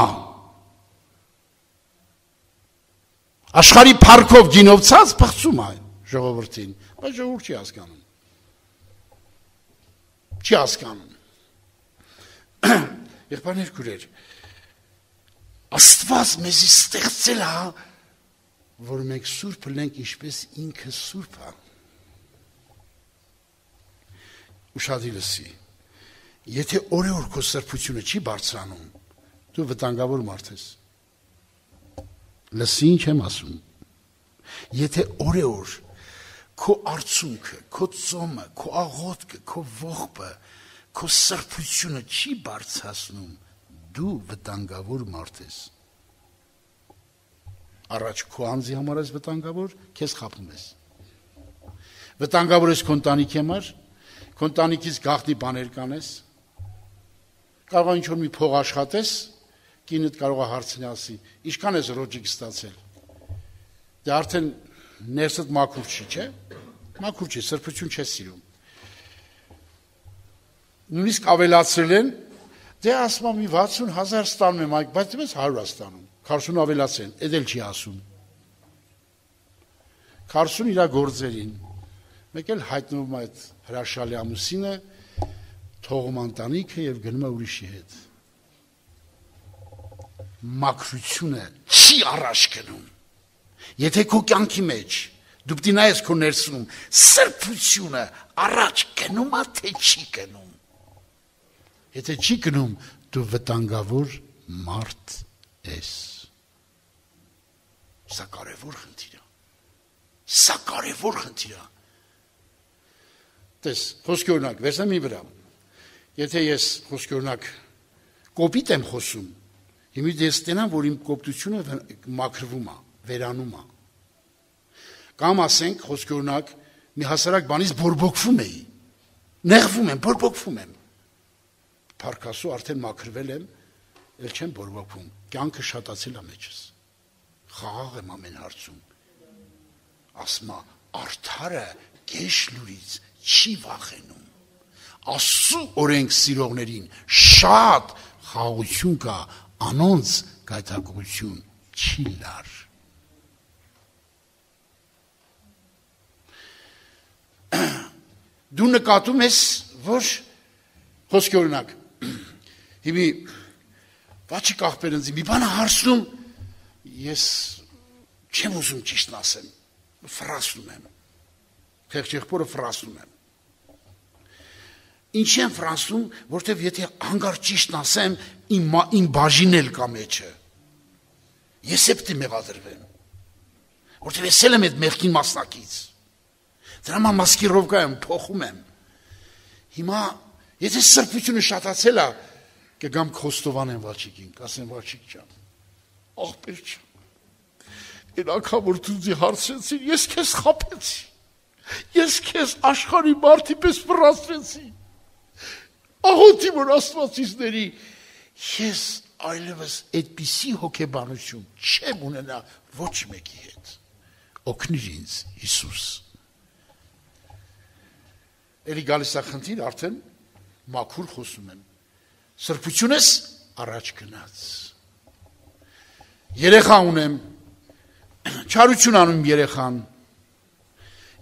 Աշխարհի փառքով գինովցած պղծում է ժողովրդին, բայց ժողովուրդ չի հասկանում։ Չի հասկանում։ Եղբայրներ քույրեր, Աստված մեզի ստեղծել է, որ մենք սուրբ լինենք, ինչպես ինքը սուրբ է։ Ուշադիր լսի։ Եթե օրեօր քո սրբությունը չի բարձրանում, դու վտանգավոր մարդ ես։ Լսի ինչ եմ ասում։ Եթե օրեօր քո արցունքը, քո ծոմը, քո աղոթքը, քո ողբը, քո սրբությունը չի բարձրացնում, դու վտանգավոր մարդ ես։ Առաջ քո անձի համար ես վտանգավոր, քեզ խաբում ես։ Վտանգավոր ես քո ընտանիքի համար, քո ընտանիքից գաղտնի բաներ կանես։ Կարող է ինչ-որ մի փող աշխատես, կինդ կարող է հարցնի ասի, ինչքան ես ռոջիկ ստացել։ Դե արդեն ներսդ մաքուր չի, չէ՞։ Մաքուր չի, սրբություն չես սիրում։ Նույնիսկ ավելացրել են, դե ասում եմ 60,000 ստանում եմ, բայց դες 100 ստանում։ 40 ավելացեն, էդ էլ չի ասում։ 40 իր գործերին։ Մեկ էլ հայտնվում է այդ հրաշալի ամուսինը, թողում ընտանիքը եւ գնում է ուրիշի հետ։ Մաքրությունը չի առաջ գնում։ Եթե քո կյանքի մեջ դու պիտի նայես քո ներսում, սրբությունը առաջ գնում է, թե չի գնում։ Եթե չի գնում, դու վտանգավոր մարդ ես։ Սա կարևոր խնդիր է։ Սա կարևոր խնդիր է։ Տես, խոսքի օրինակ, վերցնեմ մի վրա։ Եթե ես խոսքի օրինակ կոպիտ եմ խոսում, հիմա ես տենամ, որ իմ կոպտությունը մաքրվում է, վերանում է։ Կամ ասենք, խոսքի օրինակ, մի հասարակ բանից բորբոքվում էի։ Նեղվում եմ, բորբոքվում եմ։ Փառքասու արդեն մաքրվել եմ, ել չեմ բորբոքվում։ Կյանքը շատացել է մեջս։ Խաղաղ եմ ամեն հարցում։ Ասմա, արդարը կեշ լուրից չի վախենում։ Աստծու օրենք սիրողներին շատ խաղաղություն կա, անոնց գայթակղություն չի լար։ Դու նկատում ես, որ խոսքի օրինակ, հիմի վաչի կաղբերնձի մի բանը հարցնում, ես չեմ ուզում ճիշտն ասեմ, ֆրասնում եմ, խեղճ եղբորը ֆրասնում եմ։ Ինչ եմ ֆրասնում, որտև եթե հանգար ճիշտն ասեմ, իմ բաժին էլ կա մեջը, ես է պտի մեղադրվեմ, որտև ես էլ եմ այդ մեղքին մասնակից, դրամա մասկիրովկա եմ, փոխում եմ, հիմա եթե սրբությունը շատացել է, կգամ Խոստովան եմ Վաչիկին, կասեմ Վաչիկ ջան, աղբեր ջան, այն անգամ որ դու ինձ հարցրեցի, ես քեզ խաբեցի, ես քեզ աշխարհի մարդի պես վռացրեցի, աղոթի որ Աստվածիցների, ես այլևս այդպիսի հոգեբանություն չեմ ունենա ոչ մեկի հետ, օգնիր ինձ Հիսուս։ Էլի գալիս է խնդիր, արդեն մաքուր խոսում եմ, սրբությունս առաջ գնաց, երեխա ունեմ, չարություն անում երեխան,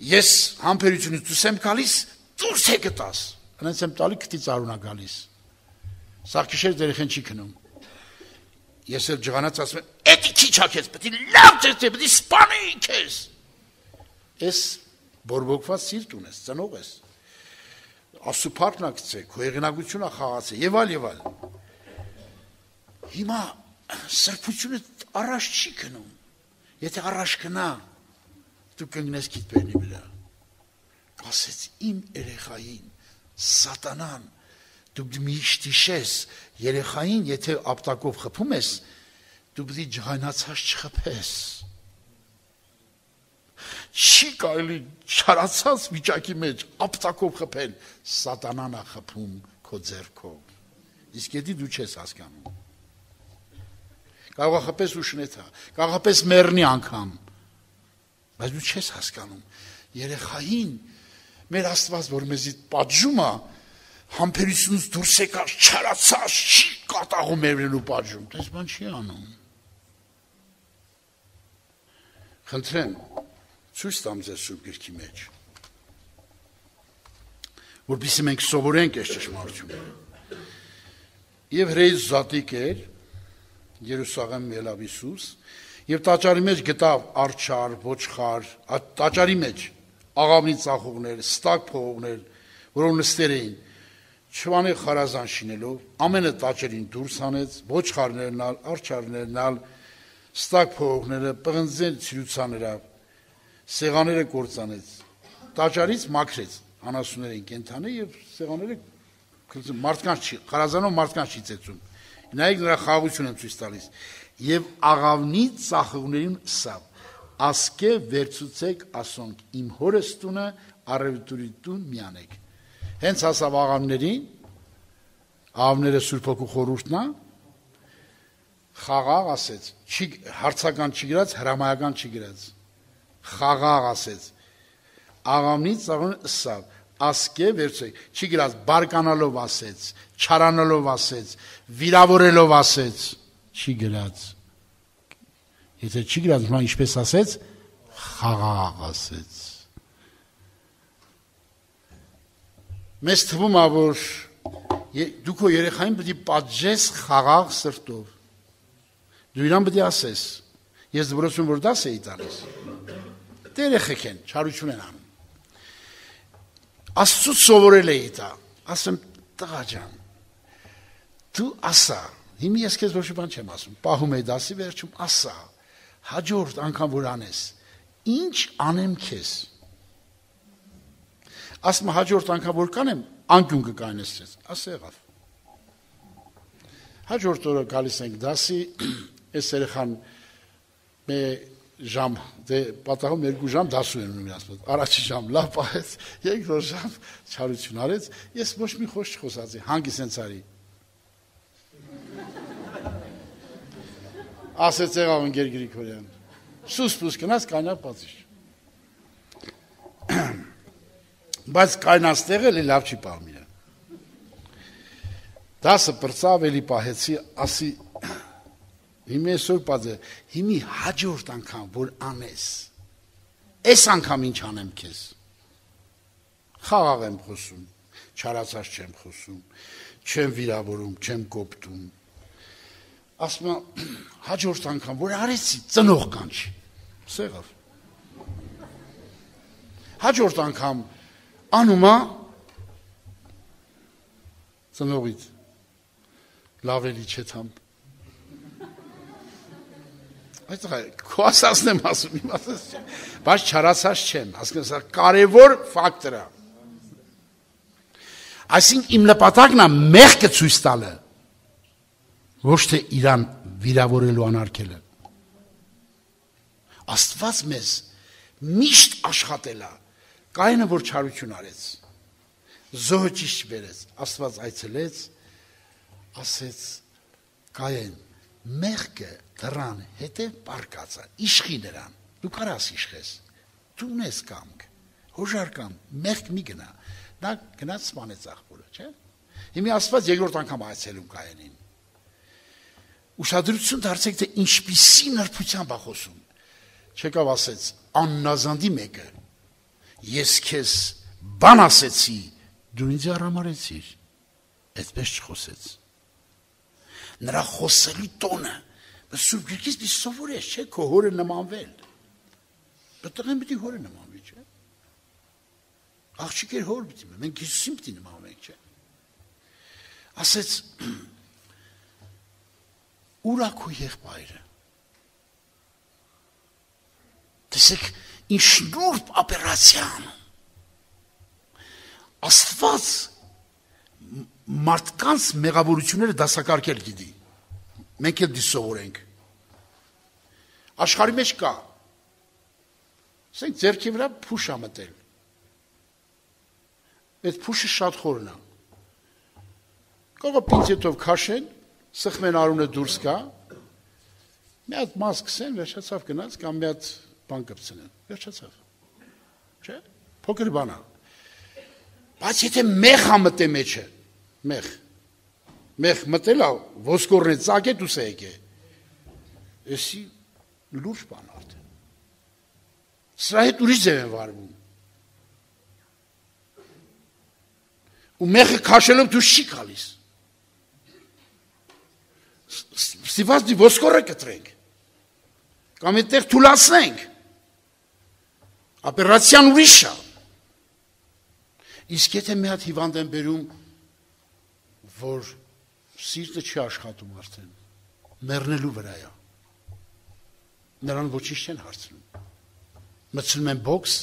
ես համբերությունից դուրս եմ գալիս, դուրս է գտաս, հենց եմ տալի քթի ծարունա գալիս, սաղ քիշեր երեխան չի քնում, ես էլ ջղանած ասում եմ, «Էդի քիչ ակես, պետք է լավ ձեզ, պետք է սպանի քեզ»։ Ես բորբոքված սիրտ ունես, ծնող ես։ Ասուփարն ակցե, քո եղանակությունը խաղացե եւ այլ։ Հիմա սրբությունը առաջ չի գնում։ Եթե առաջ գնա, դու կընկնես գիտբերնի վրա։ Ասեց իմ երեխային սատանան, դու միշտ իշես երեխային, եթե ապտակով խփում ես, դու պետք է ջղայնացած չխփես։ Չի կարելի չարացած վիճակի մեջ ապտակով խփել, սատանան է խփում քո ձեռքով։ Իսկ եթե դու չես հասկանում։ Կարող է խփես ու շնեթա, կարող է պես մեռնի անգամ, բայց դու չես հասկանում։ Երեխային մեր Աստված, որ մեզի պատժում է, համբերությունից դուրս եկած չարացած չի կատաղում մերվելու պատժում, դες բան չի անում։ Խնդրեմ, ցույց տամ ձեզ Սուրբ Գրքի մեջ, որպեսզի մենք սովորենք այս ճշմարտությունը։ Եվ հրեից զատիկ էր, Երուսաղեմ ելավ Հիսուս, եւ տաճարի մեջ գտավ արջար, ոչխար, տաճարի մեջ աղավնի ծախողներ, ստակ փողողներ, որոնք նստեր էին, չվանի խարազան շինելով, ամենը տաճարին դուրս հանեց, ոչխարներն ալ, արջարներն ալ, ստակ փողողները, պղնձեն ցիրուցաները, սեղաները կործանեց, տաճարից մաքրեց, անասուններին կենթանի եւ սեղաները մարդկանց չի, խարազանով մարդկանց չի ծեծում։ Նայեք նրա խաղաղությունը եմ ցույց տալիս։ Եվ աղավնի ծախողներին սավ, ասկե վերցուցեք ասոնք, իմ հորս տունը առևտուրի տուն միանեք։ Հենց ասավ աղավներին, աղավները Սուրբ Հոգու խորհուրդն է, խաղաղ ասեց, հարցական չի գրած, հրամայական չի գրած, խաղաղ ասեց, աղավնի ծախողներին սավ, ասկե վերցեք, չի գրած, բարկանալով ասեց, չարանալով ասեց, վիրավորելով ասեց, չի գրած, եթե չի գրած, նա ինչպես ասեց, խաղաղ ասեց։ Մեզ թվում է, որ դու քո երեխային պետք է պատժես խաղաղ սրտով, դու իրան պետք է ասես, ես դպրոցում որ դաս էի տալիս, դե երեխեք են, չարություն են անում, Աստծուց սովորել էի դա, ասեմ, տղա ջան, դու ասա, հիմի ես քեզ ոչ մի բան չեմ ասում, պահում էի դասի վերջում, ասա, հաջորդ անգամ որ անես, ինչ անեմ քեզ։ Ասում հաջորդ անգամ որ կանեմ, անկյուն կկայնես քեզ, ասա եղավ։ Հաջորդ օրը գալիս ենք դասի, այս երեխան մե ժամ, դե պատահում 2 ժամ դասում եմ ունի ասում, առաջի ժամ լավ պահեց, երկրորդ ժամ չարություն արեց, ես ոչ մի խոսք չխոսացի, հանգիս հենց արի։ Ասեց եղավ ընկեր Գրիգորյան, սուս գնաց կայնա պատիժ։ Բայց կայնած տեղը էլի լավ չի պահում իրան։ Դասը պրծավ էլի պահեցի, ասի Հիմի այսօր պատը, հիմի հաջորդ անգամ, որ անես, այս անգամ ինչ անեմ քեզ, խաղաղ եմ խոսում, չարացած չեմ խոսում, չեմ վիրավորում, չեմ կոպտում, ասում եմ, հաջորդ անգամ, որ արեցի, ծնող կանչի, սեղավ, հաջորդ անգամ, անումա, ծնողից, լավ էլի չեթամ, Այդ քո ասածն եմ ասում, իմ ասած չեմ, բայց չարացած չեմ, հասկանում ես, կարևոր ֆակտոր է։ Այսինքն իմ նպատակն է մեղքը ցույց տալը, ոչ թե իրան վիրավորելու անարգելը։ Աստված մեզ միշտ աշխատել է, Կայինը որ չարություն արեց, զոհը ճիշտ բերեց, Աստված այցելեց, ասեց Կայեն, մեղքը դրան հետև պարկած է, իշխի նրան, դու կարաս իշխես, դու ունես կամք, հոժար կամ, մեղք մի գնա, նա գնաց սպանեց աղբորը, չէ? Հիմի Աստված երկրորդ անգամ այցելում Կայենին, ուշադրություն դարձեք, թե ինչպիսի նրբությամբ է խոսում, չեկավ ասեց, աննազանդի մեկը, ես քեզ բան ասեցի, դու ինձ արամարեցիր, այդպես չխոսեց, նրա խոսելու տոնը, Սուրբ գրքից դի սովորես, չէ, քո հորը նմանվել։ Տղեն պիտի հորը նմանվի, չէ։ Աղջիկեր հոր պիտի, մենք Հիսուսին պիտի նմանվենք, չէ։ Ասեց, ուր ա քո եղբայրը։ Տեսեք, ինչ նուրբ ապերացիան։ Աստված մարդկանց մեղավորությունները դասակարգել գիտի։ Մենք էլ դի սովորենք։ Աշխարհի մեջ կա։ Ասենք ձեռքի վրա փուշ ա մտել։ Այդ փուշը շատ խորն է։ Կարող է պինցետով քաշեն, սխմեն արունը դուրս գա, մի հատ մաս կսեն, վերջացավ գնաց, կամ մի հատ բան կպցնեն, վերջացավ։ Չէ՞, փոքր բան է։ Բայց եթե մեղ ա մտե մեջը, մեղ մտել ա, ոսկորն է ծակ է դուս է եկե, էսի լուրջ բան արդեն։ Սրա հետ ուրիշ ձև են վարվում։ Ու մեղը քաշելով դուրս չի գալիս։ Ստիված դի ոսկորը կտրենք։ Կամ այդտեղ թուլացնենք։ Ապերացիան ուրիշ է։ Իսկ եթե մի հատ հիվանդ են բերում, որ սիրտը չի աշխատում արդեն, մեռնելու վրա է։ Նրան ոչինչ չեն հարցնում։ Մտցնում են բոքս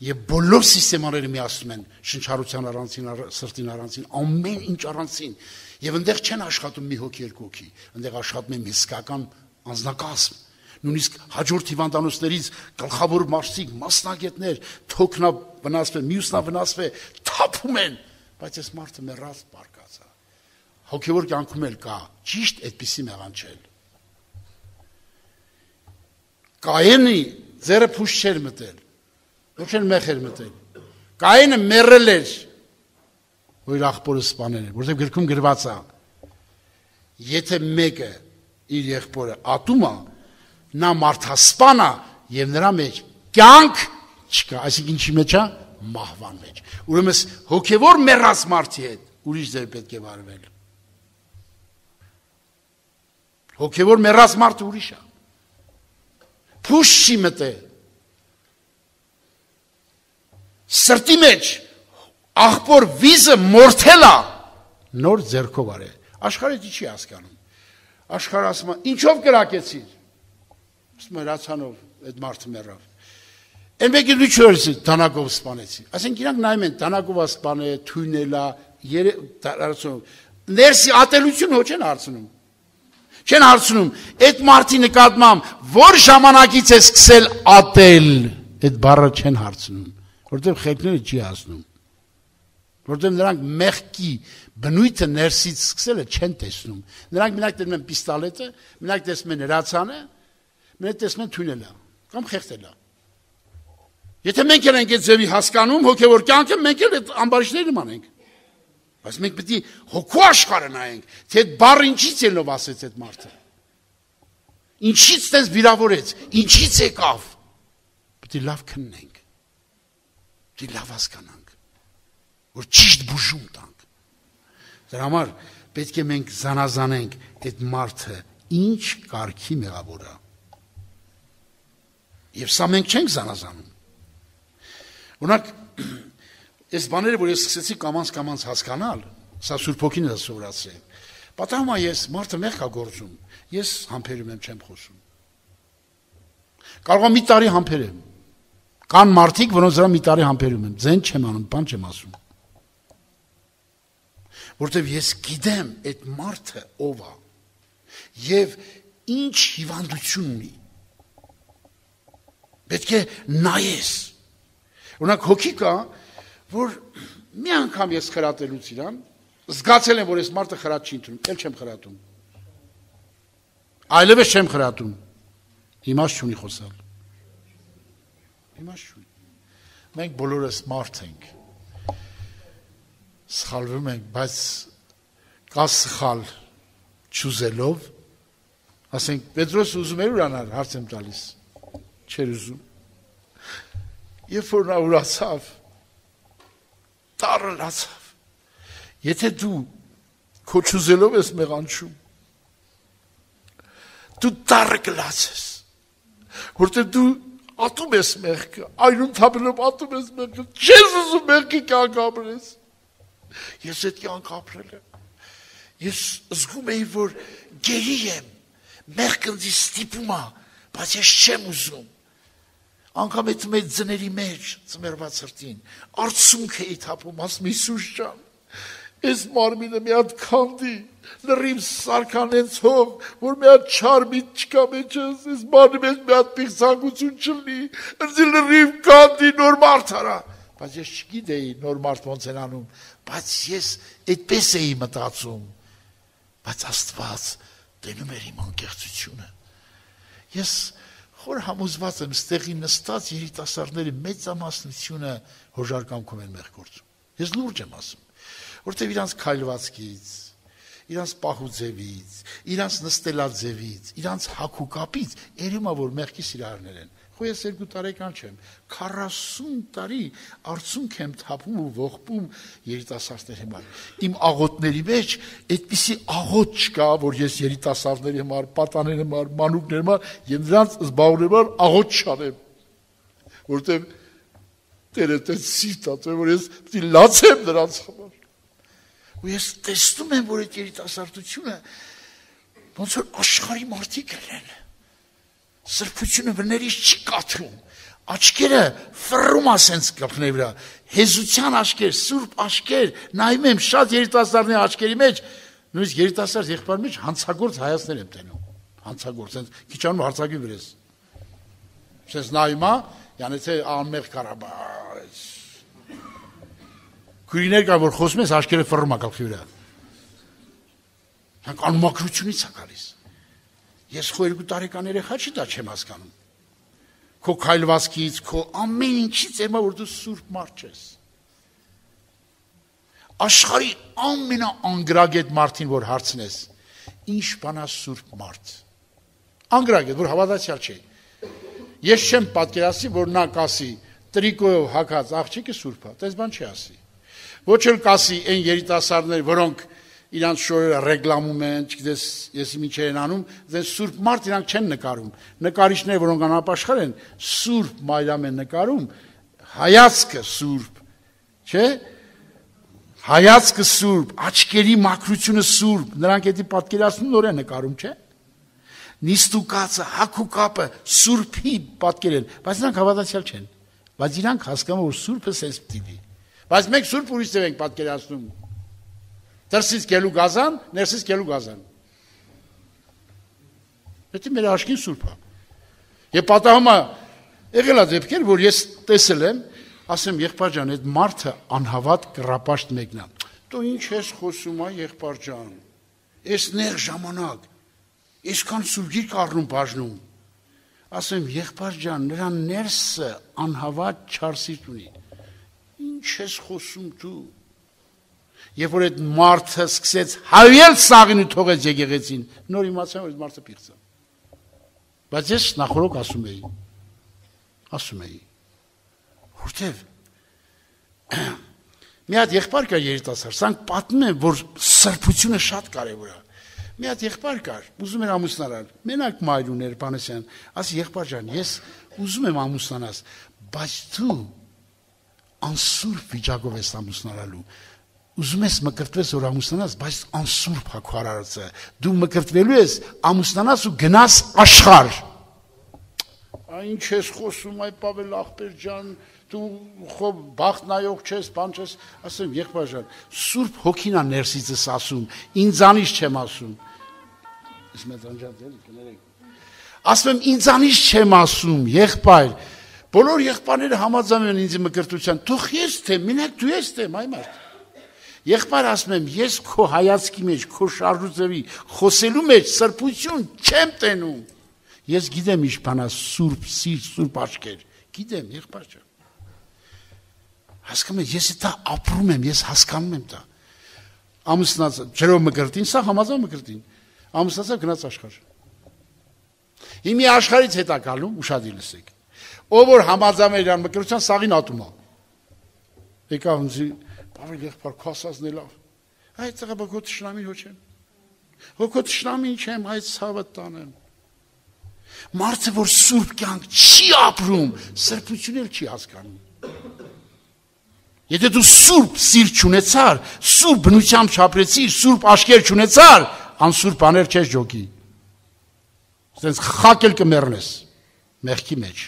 եւ բոլոր սիստեմաները միացնում են շնչառության առանցին, սրտին առանցին, ամեն ինչ առանցին եւ այնտեղ չեն աշխատում մի հոգի, երկու հոգի, այնտեղ աշխատում են իսկական անձնակազմ։ Նույնիսկ հաջորդ հիվանդանոցներից գլխավոր մարզիկ, մասնագետներ, թոքնա վնասվել, մյուսնա վնասվել, թափում են, բայց այս մարդը մեռած բարկած է։ Հոգևոր կյանքում էլ կա ճիշտ այդպիսի մեղանչել։ Կայենի ձերը փուշ չէր մտել, ոչ էլ մեղ էր մտել։ Կայենը մեռել էր, որ իր աղբորը սպանել էր, որովհետև գրքում գրված է, եթե մեկը իր եղբորը ատում է, նա մարդասպան է եւ նրա մեջ կյանք չկա, այսինքն ինչի մեջ է, մահվան մեջ։ Ուրեմն հոգևոր մեռած մարդի հետ ուրիշ ձև պետք է վարվել։ Հոգևոր մեռած մարդը ուրիշ է։ Փուշ չի մտել։ Սրտի մեջ աղբոր վիզը մորթել է, նոր ձեռքով արել։ Աշխարհը չի հասկանում։ Աշխարհը ասում է, ինչով կրակեցիր։ Ասում է, հրացանով այդ մարդը մեռավ։ Են մեկը դու չորսի, դանակով սպանեցի։ Ասենք իրանք նայում են, դանակով սպանել, թույնելա, ներսի ատելություն հո չեն հարցնում։ Չեն հարցնում, այդ մարդի նկատմամբ որ ժամանակից է սկսել ատել, այդ բառը չեն հարցնում, որտեղ խելքները չի հասնում։ Որտեղ նրանք մեղքի բնույթը ներսից սկսելը չեն տեսնում։ Նրանք մենակ տեսնում են պիստոլետը, մենակ տեսնում են հրացանը, մենակ տեսնում են թույնելա կամ խեղդելա։ Եթե մենք ենք այդ ձևի հասկանում հոգևոր կյանքը, մենք էլ այդ ամբարիշտների նման ենք։ Բայց մենք պետք է հոգու աշխարհը նայենք, թե այդ բառը ինչից ելնով ասեց այդ մարդը։ Ինչից դες վիրավորեց, ինչից եկավ։ Պետք է լավ քննենք։ Պետք է լավ հասկանանք, որ ճիշտ բուժում տանք։ Դրա համար պետք է մենք զանազանենք այդ մարդը ինչ կարգի մեղավոր է։ Եվ սա մենք չենք զանազանում։ Օրինակ, այս բաները, որ ես սկսեցի կամանց հասկանալ, սա Սուրբ Հոգին է սովորացրել։ Պատահում է ես մարդը մեղք է գործում, ես համբերում եմ, չեմ խոսում։ Կարող է մի տարի համբերեմ։ Կան մարդիկ, որոնց դրա մի տարի համբերում եմ, ձեն չեմ անում, բան չեմ ասում։ Որտեւ ես գիտեմ այդ մարդը ով է եւ ինչ հիվանդություն ունի։ Պետք է նայես։ Օրինակ հոգի կա, որ մի անգամ ես խրատելուց իրան, զգացել եմ, որ ես մարդը խրատ չի ընդունում, էլ չեմ խրատում։ Այլևս չեմ խրատում։ Իմաստ չունի խոսալ։ Իմաստ չունի։ Մենք բոլորս մարդ ենք։ Սխալվում ենք, բայց կա սխալ չուզելով, ասենք Պետրոս ուզում էր ուրանալ, հարց եմ տալիս, չէր ուզում։ Երբ որ նա ուրացավ, տարրացավ։ Եթե դու քո չուզելով ես մեղանչում, դու դառը գլացես, որտեղ դու ատում ես մեղքը, այրուն թափելով ատում ես մեղքը, չես ուզում մեղքի կյանք ապրես։ Ես այդ կյանք ապրել եմ, ես զգում էի, որ գերի եմ, մեղքը ինձ ստիպում է, բայց ես չեմ ուզում։ Անգամ այդ մեծ ձների մեջ, ծմերված սրտին, արցունք էի թափում, ասում Հիսուս ջան, այս մարմինը մի հատ քանդի, լրիվ սարքանենց հող, որ մի հատ չար միտ չկա մեջս, այս մարմինի մեջ մի հատ պիղծանկություն չլինի, ինձ լրիվ քանդի, նոր մարդ արա։ Բայց ես չգիտեի նոր մարդ ոնց են անում, բայց ես այդպես էի մտածում, բայց Աստված տենում էր իմ անկեղծությունը։ Ես խոր համոզված եմ, ստեղի նստած երիտասարդների մեծամասնությունը հոժարկամքում են մեղ գործում։ Ես լուրջ եմ ասում, որտեղ իրանց քայլվածքից, իրանց պահուձևից, իրանց նստելաձևից, իրանց հագուկապից երևում է, որ մեղքի սիրահարներ են։ Խո ես 2 տարեկան չեմ, 40 տարի արցունք եմ թափում ու ողբում երիտասարդների համար։ Իմ աղոթների մեջ այդպիսի աղոթ չկա, որ ես երիտասարդների համար, պատաների համար, մանուկների համար եւ նրանց զբաղվելու համար աղոթ չանեմ, որտեղ Տերը տես սիրտ է, որ ես պիտի լացեմ նրանց համար։ Ու ես տեսնում եմ, որ այդ երիտասարդությունը ոնց որ աշխարհի մարդիկ են։ Սրբությունը վներից չի կաթում, աչքերը ֆռում ասենց կապների վրա, հեզության աչքեր, սուրբ աչքեր, նայում եմ շատ երիտասարդների աչքերի մեջ, նույնիսկ երիտասարդ եղբայրի մեջ հանցագործ հայացքներ եմ տենում, հանցագործ, ասենց քիչ անում հարցակի վրես, ասենց նայում է, յանեցե անմեղ կարաբա, քույրիներ կա, որ խոսում ես, աչքերը ֆռում է կապի վրա, հանք անմաքրությունից է գալիս։ Ես քո 2 տարեկան երեխա չի դա չեմ հասկանում։ Քո քայլվածքից, քո ամեն ինչից եմա որ դու սուրբ մարդ ես։ Աշխարհի ամենաանգրագետ մարդին որ հարցնես, ինչ բան է սուրբ մարդ։ Անգրագետ, որ հավատացյալ չէ։ Ես չեմ պատկերացնի, որ նա կասի տրիկոյով հագած աղջիկը սուրբ է, դες բան չի ասի։ Ոչ էլ կասի այն երիտասարդներ, որոնք իրանց շորերը ռեգլամում են, չգիտես, ես ինչ են անում, դες սուրբ մարդ իրանք չեն նկարում։ Նկարիչները, որոնք անապաշխար են, սուրբ մայրամ են նկարում, հայացքը սուրբ, չէ՞։ Հայացքը սուրբ, աչքերի մաքրությունը սուրբ, նրանք էդի պատկերացնում նոր են նկարում, չէ՞։ Նիստուկացը, հագուկապը սուրբի պատկեր են, բայց նրանք հավատացյալ չեն։ Բայց իրանք հասկանում որ սուրբը սենց պիտի լինի։ Բայց մենք սուրբ ուրիշ ձև ենք պատկերացնում։ Դրսից գելու գազան, ներսից գելու գազան։ Դա մեր աշխին սուրբ է։ Եվ պատահում է եղել է դեպքեր, որ ես տեսել եմ, ասեմ եղբայր ջան, այդ մարդը անհավատ կռապաշտ մեկն է։ Դու ինչ ես խոսում ա եղբայր ջան։ Այս նեղ ժամանակ, այսքան սուրբ գիրք առնում բաժնում։ Ասեմ եղբայր ջան, նրա ներսը անհավատ չարսիտ ունի։ Ինչ ես խոսում դու։ Եվ որ այդ մարդը սկսեց հավիել սաղին ու թողեց եկեղեցին, նոր իմացա որ այդ մարդը պիղծ է։ Բայց ես նախորոք ասում էի, որտև մի հատ եղբայր կար երիտասարդ, սրանք պատմում են, որ սրբությունը շատ կարևոր է։ Մի հատ եղբայր կար, ուզում էր ամուսնանալ, մենակ մայր ուներ Պանասյան, ասի եղբայր ջան, ես ուզում եմ ամուսնանալ, բայց դու անսուրբ վիճակով ես ամուսնանալու։ Ուզում ես մկրտվես որ ամուսնանաս, բայց անսուրբ է քո արարածը։ Դու մկրտվելու ես, ամուսնանաս ու գնաս աշխարհ։ Ինչ ես խոսում, այ Պավել ախպեր ջան, դու խո բախտ նայող չես, բան չես, ասեմ եղբայր ջան, սուրբ հոգին է ներսիցս ասում, ինձանից չեմ ասում։ Ես մեծ անջատ եմ, կներեք։ Ասում եմ ինձանից չեմ ասում, եղբայր։ Բոլոր եղբայրները համաձայնում են ինձ մկրտության։ Թող ես թե, մենակ դու ես թե, այ մարդ։ Եղբայր ասում եմ, ես քո հայացքի մեջ, քո շարժուձևի, խոսելու մեջ սրբություն չեմ տենում։ Ես գիտեմ ինչ բան է սուրբ սիրտ, սուրբ աչքեր։ Գիտեմ, եղբայր ջան։ Հասկանում եք, ես դա ապրում եմ, ես հասկանում եմ դա։ Ամուսնացա, ջրով մկրտին, սա համաձայն մկրտին։ Ամուսնացա գնաց աշխարհ։ Հիմի աշխարհից հետա գալու, ուշադիր լսեք։ Ով որ համաձայն է իրան մկրտության սաղին ատում է։ Եկավ ինձ Պավել եղբայր քասածն է լավ։ Այդ ծղաբա քո տշնամին հոչեմ։ Քո տշնամին չեմ, այդ ցավը տանեմ։ Մարդը, որ սուրբ կյանք չի ապրում, սրբություն էլ չի հասկանում։ Եթե դու սուրբ սիրտ չունեցար, սուրբ բնությամբ չապրեցիր, սուրբ աչքեր չունեցար, անսուրբ բաներ չես ջոկի։ Սենց խակել կմեռնես մեղքի մեջ։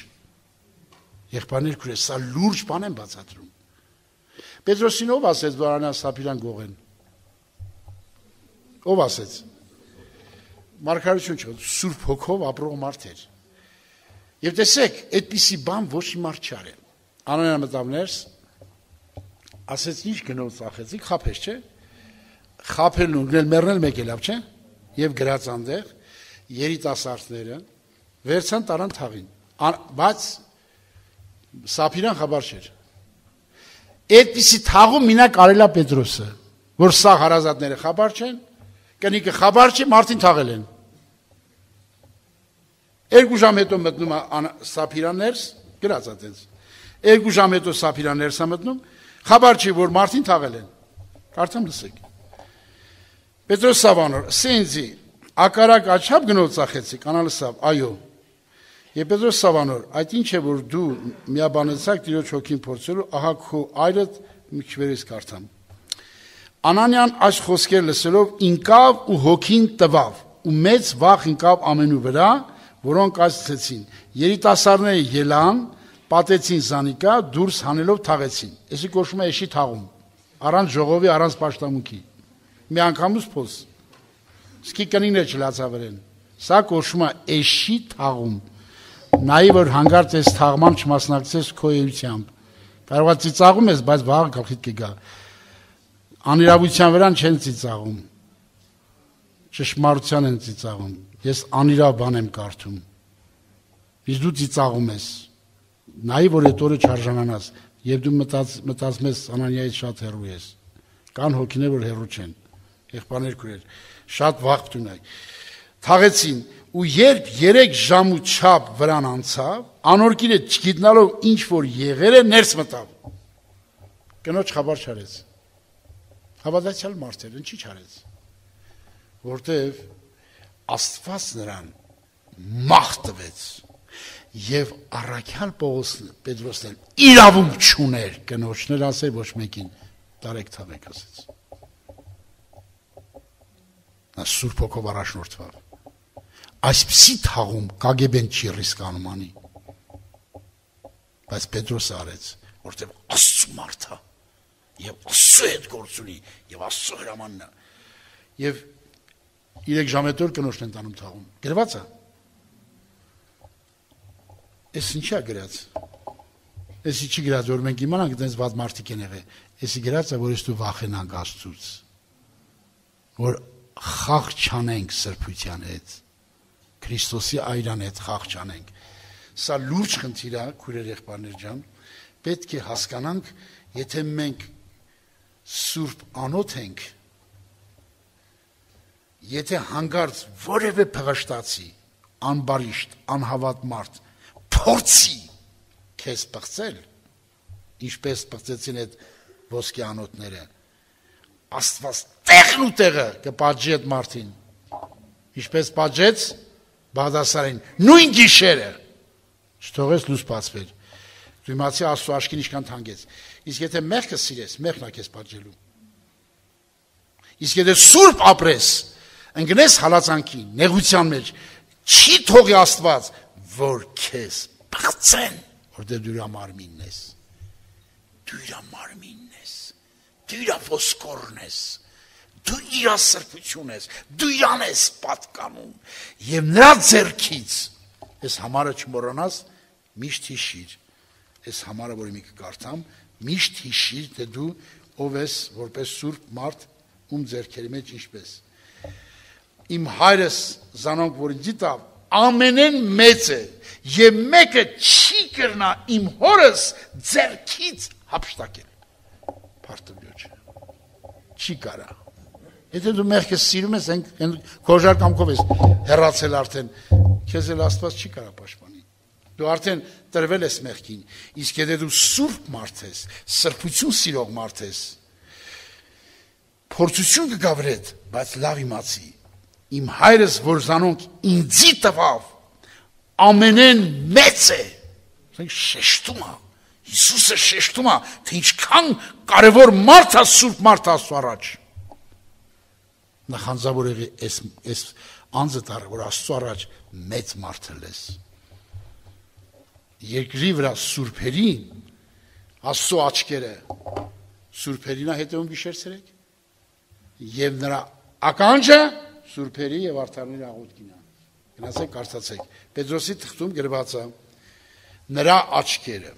Եղբայրներ քույրեր, սա լուրջ բան եմ բացատրում։ Պետրոսին ով ասեց, որ Անանիաս Սափիրան գողեն։ Ով ասեց։ Մարգարություն չէ, Սուրբ Հոգով ապրող մարդ էր։ Եվ տեսեք, այդպիսի բան ոչ մի մարդ չարել։ Անանիան մտավ ներս, ասեց ինչ գնով ծախեցիք, խափես, չէ։ Խափելն ու մեռնել մեկ է լավ, չէ։ Եվ գրած այնտեղ երիտասարդները վերցան տարան թաղին, բայց Սափիրան խաբար չէր։ Այդպիսի թաղում մինակ արելա Պետրոսը, որ սա հարազատները խաբար չեն, կնիկը խաբար չի, մարդին թաղել են։ 2 ժամ հետո մտնում Սափիրան ներս, գրած է տենց։ 2 ժամ հետո Սափիրան ներս է մտնում, խաբար չի, որ մարդին թաղել են։ Կարդամ լսեք։ Պետրոս Սավանոր, սենձի, ակարակ աչապ գնով ծախեցիք, անալսավ, այո։ Եվ Պետրոս Սավանոր, այդ ինչ է, որ դու միաբանեցակ Տիրոջ հոգին փորձելու, ահա քո այրդ մի քիչ կարդամ։ Անանիան այս խոսքեր լսելով ինկավ ու հոգին տվավ, ու մեծ վախ ինկավ ամենու վրա, որոնք ասեցին, երիտասարդները ելան, պատեցին Զանիկա, դուրս հանելով թաղեցին։ Էսի կոչվում է էշի թաղում, առանց ժողովի, առանց պաշտամունքի։ Մի անգամուց փոս։ Սկի կնինը չլացավրեն։ Սա կոչվում է էշի թաղում։ Նայ որ հանգարց ես թաղման չմասնակցես քո էությամբ։ Կարող է ծիծաղում ես, բայց վաղ գլխիդ կգա։ Անիրավության վրան չեն ծիծաղում։ Ճշմարտության են ծիծաղում։ Ես անիրավ բան եմ կարդում։ Իսկ դու ծիծաղում ես։ Նայ որ այդ օրը չարժանանաս, եւ դու մտածում ես Անանիայից շատ հեռու ես։ Կան հոգիներ, որ հեռու չեն։ Եղբայրներ քույրեր, շատ վաղ տունայ։ Թաղեցին ու երբ 3 ժամ ու չափ վրան անցավ, անորկիրը չգիտնալով ինչ որ եղել է ներս մտավ։ Կնոջ խաբար չարեց։ Հավատացյալ մարդ էր, ինչի չարեց։ Որտեվ Աստված նրան մահ տվեց եւ առաքյալ Պետրոսն իրավունք չուներ կնոջներ ասել ոչ մեկին տարեք թաղեք ասեց։ Նա Սուրբ Հոգով առաջնորդվավ։ Այսպիսի թաղում կագեբեն չի ռիսկանում անի։ Բայց Պետրոսը արեց, որտեղ Աստծու մարդ է, եւ Աստծու հետ գործ ունի, եւ Աստծու հրամանն է։ Եվ 3 ժամ հետո կնոջն են տանում թաղում։ Գրված է։ Էս ինչի է գրած։ Էսի չի գրած, որ մենք իմանանք դες վատ մարդիկ են եղել։ Էսի գրած է, որ ես դու վախենանք Աստծուց։ Որ խաղ չանենք սրբության հետ։ Քրիստոսի այրան հետ խաղ չանենք։ Սա լուրջ խնդիր է, քույրեր եղբայրներ ջան, պետք է հասկանանք, եթե մենք սուրբ անոթ ենք, եթե հանգարց որևէ փղշտացի, անբարիշտ, անհավատ մարդ փորձի քեզ պղծել, ինչպես պղծեցին այդ ոսկե անոթները, Աստված տեղն ու տեղը կպատժի այդ մարդին, ինչպես պատժեց Բաղդասարին, նույն գիշերը, չթողեց լույս բացվեր, դու իմացի Աստծո աչքին ինչքան թանկեց, իսկ եթե մեղքը սիրես, մեղքն է քեզ պատժելու, իսկ եթե սուրբ ապրես, ընկնես հալածանքի, նեղության մեջ, չի թողի Աստված, որ քեզ պղծեն, որտեղ դու իր մարմինն ես, դու իր մարմինն ես, դու իր ոսկորն ես, դու իր սրբություն ես, դու իրան ես պատկանում, եւ նրա ձեռքից, ես համարը չմոռանաս, միշտ հիշիր, ես համարը, որի մի կկարդամ, միշտ հիշիր, թե դու ով ես, որպես սուրբ մարդ, ում ձեռքերի մեջ ինչպես։ Իմ հայրս զանոնք, որ ինձ տավ, ամենեն մեծ է, եւ մեկը չի կրնա իմ հորս ձեռքից հափշտակել։ Փարտուլյոջ։ Չի կարա։ Եթե դու մեղքը սիրում ես, քոժար կամքով ես հեռացել արդեն, քեզ էլ Աստված չի կարա պաշտպանի։ Դու արդեն տրվել ես մեղքին, իսկ եթե դու սուրբ մարդ ես, սրբություն սիրող մարդ ես, փորձություն կգա վրեդ, բայց լավ իմացի, իմ հայրս, որ զանոնք ինձի տվավ, ամենեն մեծ է։ Շեշտում է, Հիսուսը շեշտում է, թե ինչքան կարևոր մարդ է Սուրբ մարդ Աստծո առաջ։ Նախանձավոր եղի այս անձը դառը, որ Աստծո առաջ մեծ մարդը լես։ Երկրի վրա սուրբերին, Աստծո աչքերը սուրբերին է հետևում գիշեր-ցերեկ, եւ նրա ականջը սուրբերի եւ արդարների աղոթքին է։ Գնացեք կարդացեք։ Պետրոսի թղթում գրված է նրա աչքերը,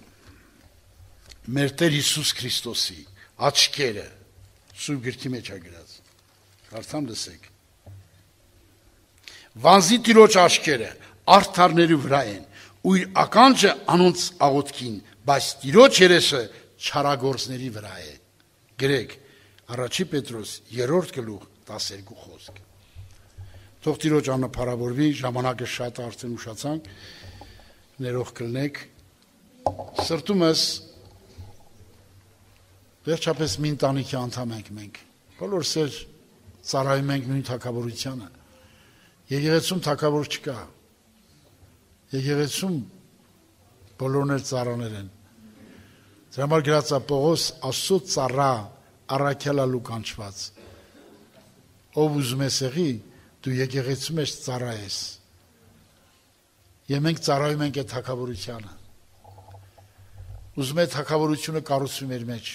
մեր Տեր Հիսուս Քրիստոսի աչքերը Սուրբ գրքի մեջ է գրած։ Կարդամ լսեք։ Վանզի Տիրոջ աչքերը արդարների վրա են, ու իր ականջը անոնց աղոթքին, բայց Տիրոջ երեսը չարագործների վրա է։ Գրեք Առաջի Պետրոս 3-րդ գլուխ 12 խոսք։ Թող Տիրոջ անունը փառավորվի, ժամանակը շատ արդեն ուշացանք, ներող կլնեք։ Սրտումս վերջապես մի ընտանիքի անդամ ենք մենք։ Բոլորս էլ ծառայում ենք նույն թագավորությանը։ Եկեղեցում թագավոր չկա։ Եկեղեցում բոլորն էլ ծառաներ են։ Դրա համար գրած է Պողոս Աստծո ծառա առաքյալալու կանչված։ Ով ուզում է եղի, դու եկեղեցու մեջ ծառա ես։ Եվ մենք ծառայում ենք այդ թագավորությանը։ Ուզում է թագավորությունը կառուցվի մեր մեջ։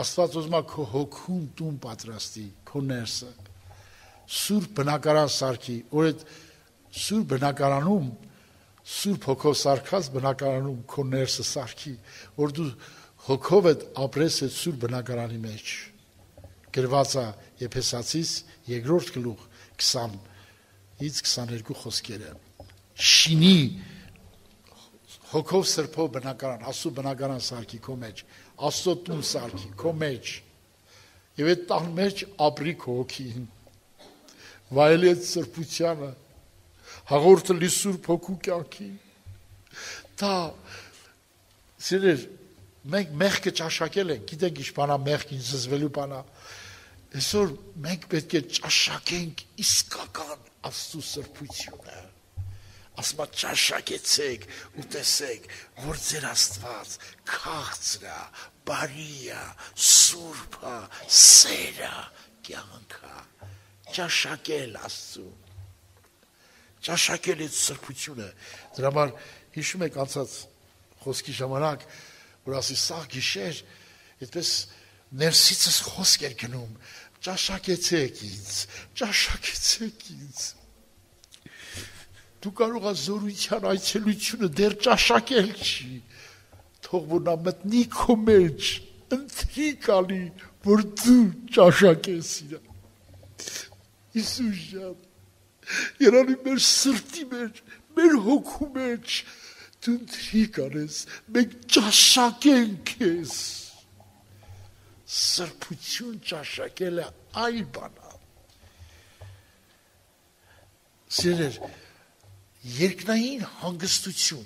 Աստված ուզում է քո հոգուն տուն պատրաստի, քո ներսը։ Սուրբ բնակարան սարքի, որ այդ սուրբ բնակարանում, սուրբ հոգով սարքած բնակարանում քո ներսը սարքի, որ դու հոգով այդ ապրես այդ սուրբ բնակարանի մեջ։ Գրված է Եփեսացիս 2-րդ գլուխ 20-ից 22 խոսքերը։ Շինի հոգով սրբով բնակարան, Աստծո բնակարան սարքի քո մեջ, Աստծո տուն սարքի քո մեջ։ Եվ այդ տան մեջ ապրի քո հոգին։ Վայելի այդ սրբությանը, հաղորդը լի Սուրբ Հոգու կյանքին։ Դա սիրեր, մենք մեղքը ճաշակել ենք, գիտենք ինչ բանա մեղքին զզվելու բանա։ Այսօր մենք պետք է ճաշակենք իսկական Աստծո սրբությունը։ Ասма ճաշակեցեք ու տեսեք, որ ձեր Աստված քաղցր է, բարի է, սուրբ է, սեր է, կյանք է։ Ճաշակել Աստծուն։ Ճաշակել այդ սրբությունը։ Դրա համար հիշում եք անցած խոսքի ժամանակ, որ ասի սա գիշեր, այդպես ներսիցս խոսք էր գնում, ճաշակեցեք ինձ, ճաշակեցեք ինձ։ Դու կարող ես զորության այցելությունը դեռ ճաշակել չի, թող որ նա մտնի քո մեջ, ընտրի կալի, որ դու ճաշակես իրան։ Հիսուս ջան, երանի մեր սրտի մեջ, մեր հոգու մեջ, դու ընտրի կանես, մենք ճաշակենք ես։ Սրբություն ճաշակել է այլ բանա։ Սիրեր, երկնային հանգստություն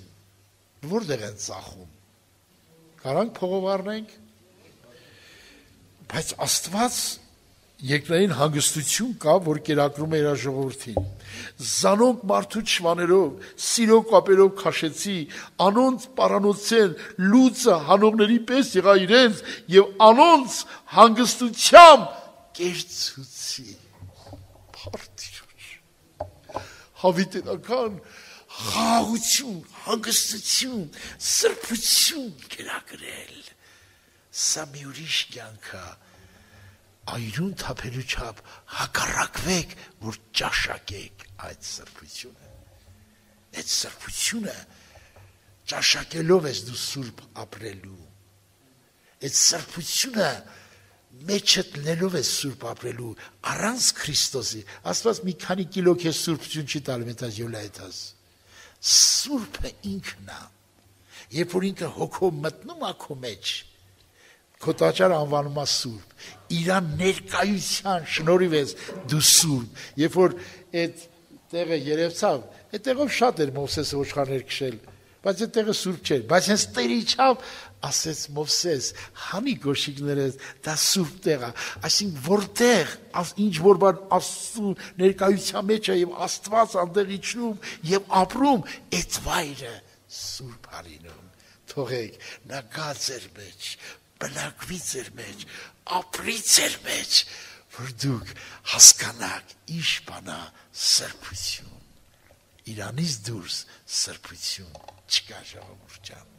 որտեղ են ծախում։ Կարանք փողով առնենք, բայց Աստված երկնային հանգստություն կա, որ կերակրում է իր ժողովրդին։ Զանոնք մարդու չվաներով, սիրո կապերով քաշեցի, անոնց պարանոցեն լուծը հանողների պես եղա իրենց եւ անոնց հանգստությամբ կերծուցի։ Փարթիրոջ։ Հավիտենական խաղաղություն, հանգստություն, սրբություն կերակրել։ Սա մի ուրիշ կյանք է։ Այրուն թափելու չափ հակառակվեք, որ ճաշակեք այդ սրբությունը։ Այդ սրբությունը ճաշակելով ես դու սուրբ ապրելու։ Այդ սրբությունը մեջդ լելով ես սուրբ ապրելու, առանց Քրիստոսի։ Աստված մի քանի կիլո քեզ սուրբություն չի տալու, մետազ յոլայթաս։ Սուրբը ինքն է։ Երբ որ ինքը հոգով մտնում է քո մեջ, քո տաճարը անվանում է սուրբ, իրան ներկայության շնորհիվ ես դու սուրբ։ Երբ որ այդ տեղը երևցավ, այդ տեղով շատ էր Մովսեսը ոչխարներ քշել, բայց այդ տեղը սուրբ չէր, բայց հենց Տերը իջավ, ասեց Մովսես, հանի գոշիկներս, դա սուրբ տեղ է, այսինքն որտեղ ինչ որ բան Աստծո ներկայության մեջ է եւ Աստված այնտեղ իջնում եւ ապրում, այդ վայրը սուրբ արինում։ Թողեք նա գա ձեր մեջ, բնակվի ձեր մեջ, ապրի ձեր մեջ, որ դուք հասկանաք ինչ բան է սրբություն։ Իրանից դուրս սրբություն չկա, ժողովուրդ ջան։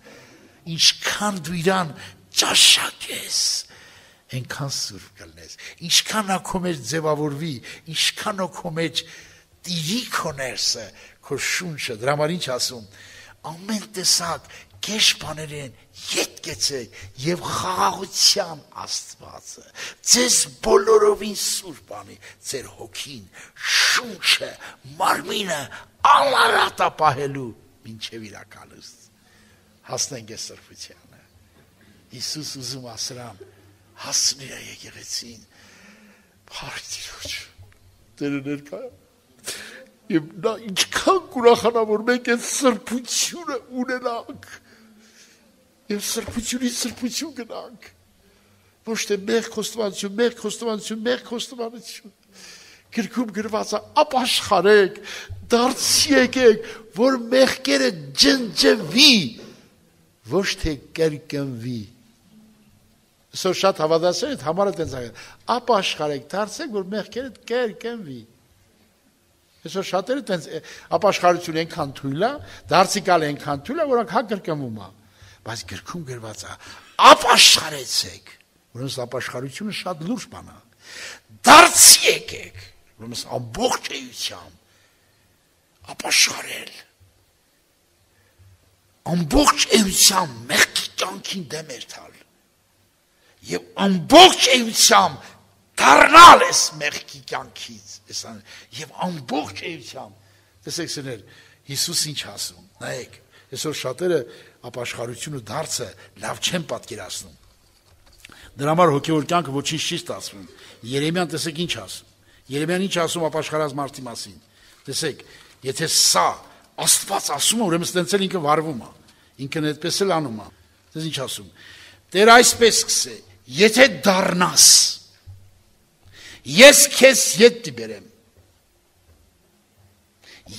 Ինչքան դու իրան ճաշակես, այնքան սուրբ կլնես, ինչքան նա քո մեջ ձևավորվի, ինչքան քո մեջ տիրի քո ներսը, քո շունչը, դրա համար ինչ ասում, ամեն տեսակ կեշ բաներեն ետ կեցեք և խաղաղության Աստվածը, ձեզ բոլորովին սուրբ անի, ձեր հոգին, շունչը, մարմինը անարատա պահելու մինչև իրականուստ։ Հասնենք այս սրբությանը։ Հիսուս ուզում ասրան, հասնի է եկեղեցին, փառք Տիրոջ, Տերը ներկա է։ Եվ նա ինչքան կուրախանա, որ մենք այդ սրբությունը ունենանք, և սրբությունից սրբություն գնանք, ոչ թե մեղք խոստովանություն, գրքում գրված է, ապաշխարեք, դարձի եկեք, որ մեղքերը ջնջվի, ոչ թե կրկնվի։ Այսօր շատ հավատացել այդ համարը տենց աղել, ապաշխարեք, դարձեք, որ մեղքերը կրկնվի։ Այսօր շատերը տենց ապաշխարություն ենքան թույլ է, դարձիկալ ենքան թույլ է, որոնք հա կրկնվում է։ Բայց գրքում գրված է, ապաշխարեցեք, որոնց ապաշխարությունը շատ լուրջ բան է, դարձի եկեք, որոնց ամբողջ էությամբ ապաշխարել, ամբողջ էությամբ մեղքի կյանքին դեմ երթալ, և ամբողջ էությամբ դառնալ ես մեղքի կյանքից, և ամբողջ էությամբ, տեսեք սներ, Հիսուս ինչ ասում, նայեք, այսօր շատերը ապաշխարությունը դարձը լավ չեն պատկերացնում։ Դրա համար հոգևոր կյանքը ոչինչ չի ստացվում։ Երեմիան տեսեք ինչ ասում։ Երեմիան ինչ ասում ապաշխարած մարդի մասին։ Տեսեք, եթե սա Աստված ասում է, ուրեմն ստենց էլ ինքը վարվում է։ Ինքն այդպես էլ անում է։ Դες ինչ ասում։ Տեր այսպես սկսե, եթե դառնաս, ես քեզ ետ դիբերեմ։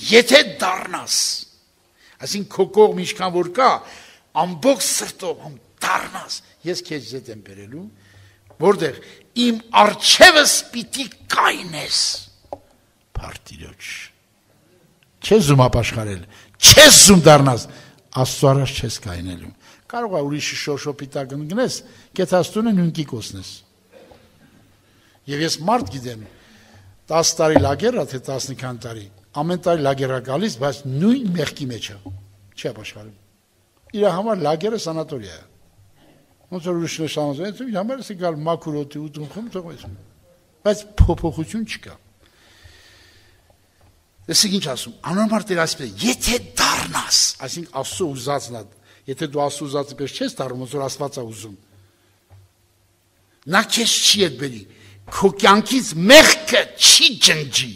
Եթե դառնաս, այսինքն քո կողմ ինչքան որ կա, ամբողջ սրտով դառնաս, ես քեզ ետ եմ բերելու, որտեղ իմ առջևս պիտի կայնես, փառք Տիրոջ։ Չես զում ապաշխարել, չես զում դառնաս, Աստծո առաջ չես կայնելու։ Կարող է ուրիշի շոշոպիտակ ընկնես, կեթաստունը նույնքի կոսնես։ Եվ ես մարդ գիտեմ, 10 տարի լագերա, թե 15 տարի, ամեն տարի լագերա գալիս, բայց նույն մեղքի մեջ է, չի ապաշխարում։ Իր համար լագերը սանատորիա է։ Ոնց որ ուրիշ նշանոց, իր համար է գալ մաքուր օդի ուտում խմում թողում, բայց փոփոխություն չկա։ Տեսեք ինչ ասում, անորմար Տեր այսպես, եթե դառնաս, այսինքն Աստծո ուզածն է, եթե դու Աստծո ուզածի պես չես դառնում, ոնց որ Աստված է ուզում, նա քեզ չի հետ բերի, քո կյանքից մեղքը չի ջնջի,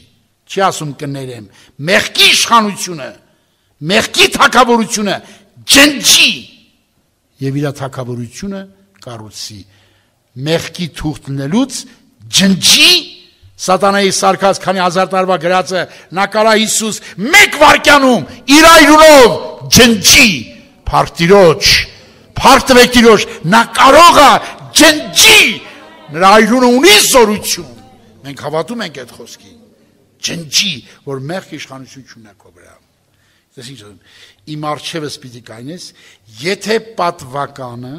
չի ասում կներեմ, մեղքի իշխանությունը, մեղքի թագավորությունը ջնջի եւ իր թագավորությունը կառուցի, մեղքի թուղթնելուց ջնջի Սատանայի սարկած քանի հազար տարվա գրածը նա կարա Հիսուս մեկ վարկյանում իր այրունով ջնջի, փառք Տիրոջ, փառք տվեք Տիրոջ, նա կարող է ջնջի, նրա այրունը ունի զորություն, մենք հավատում ենք այդ խոսքին, ջնջի, որ մեղք իշխանություն չունի քո վրա։ Դες ինչ ասում, իմ առջևս պիտի կայնես, եթե պատվականը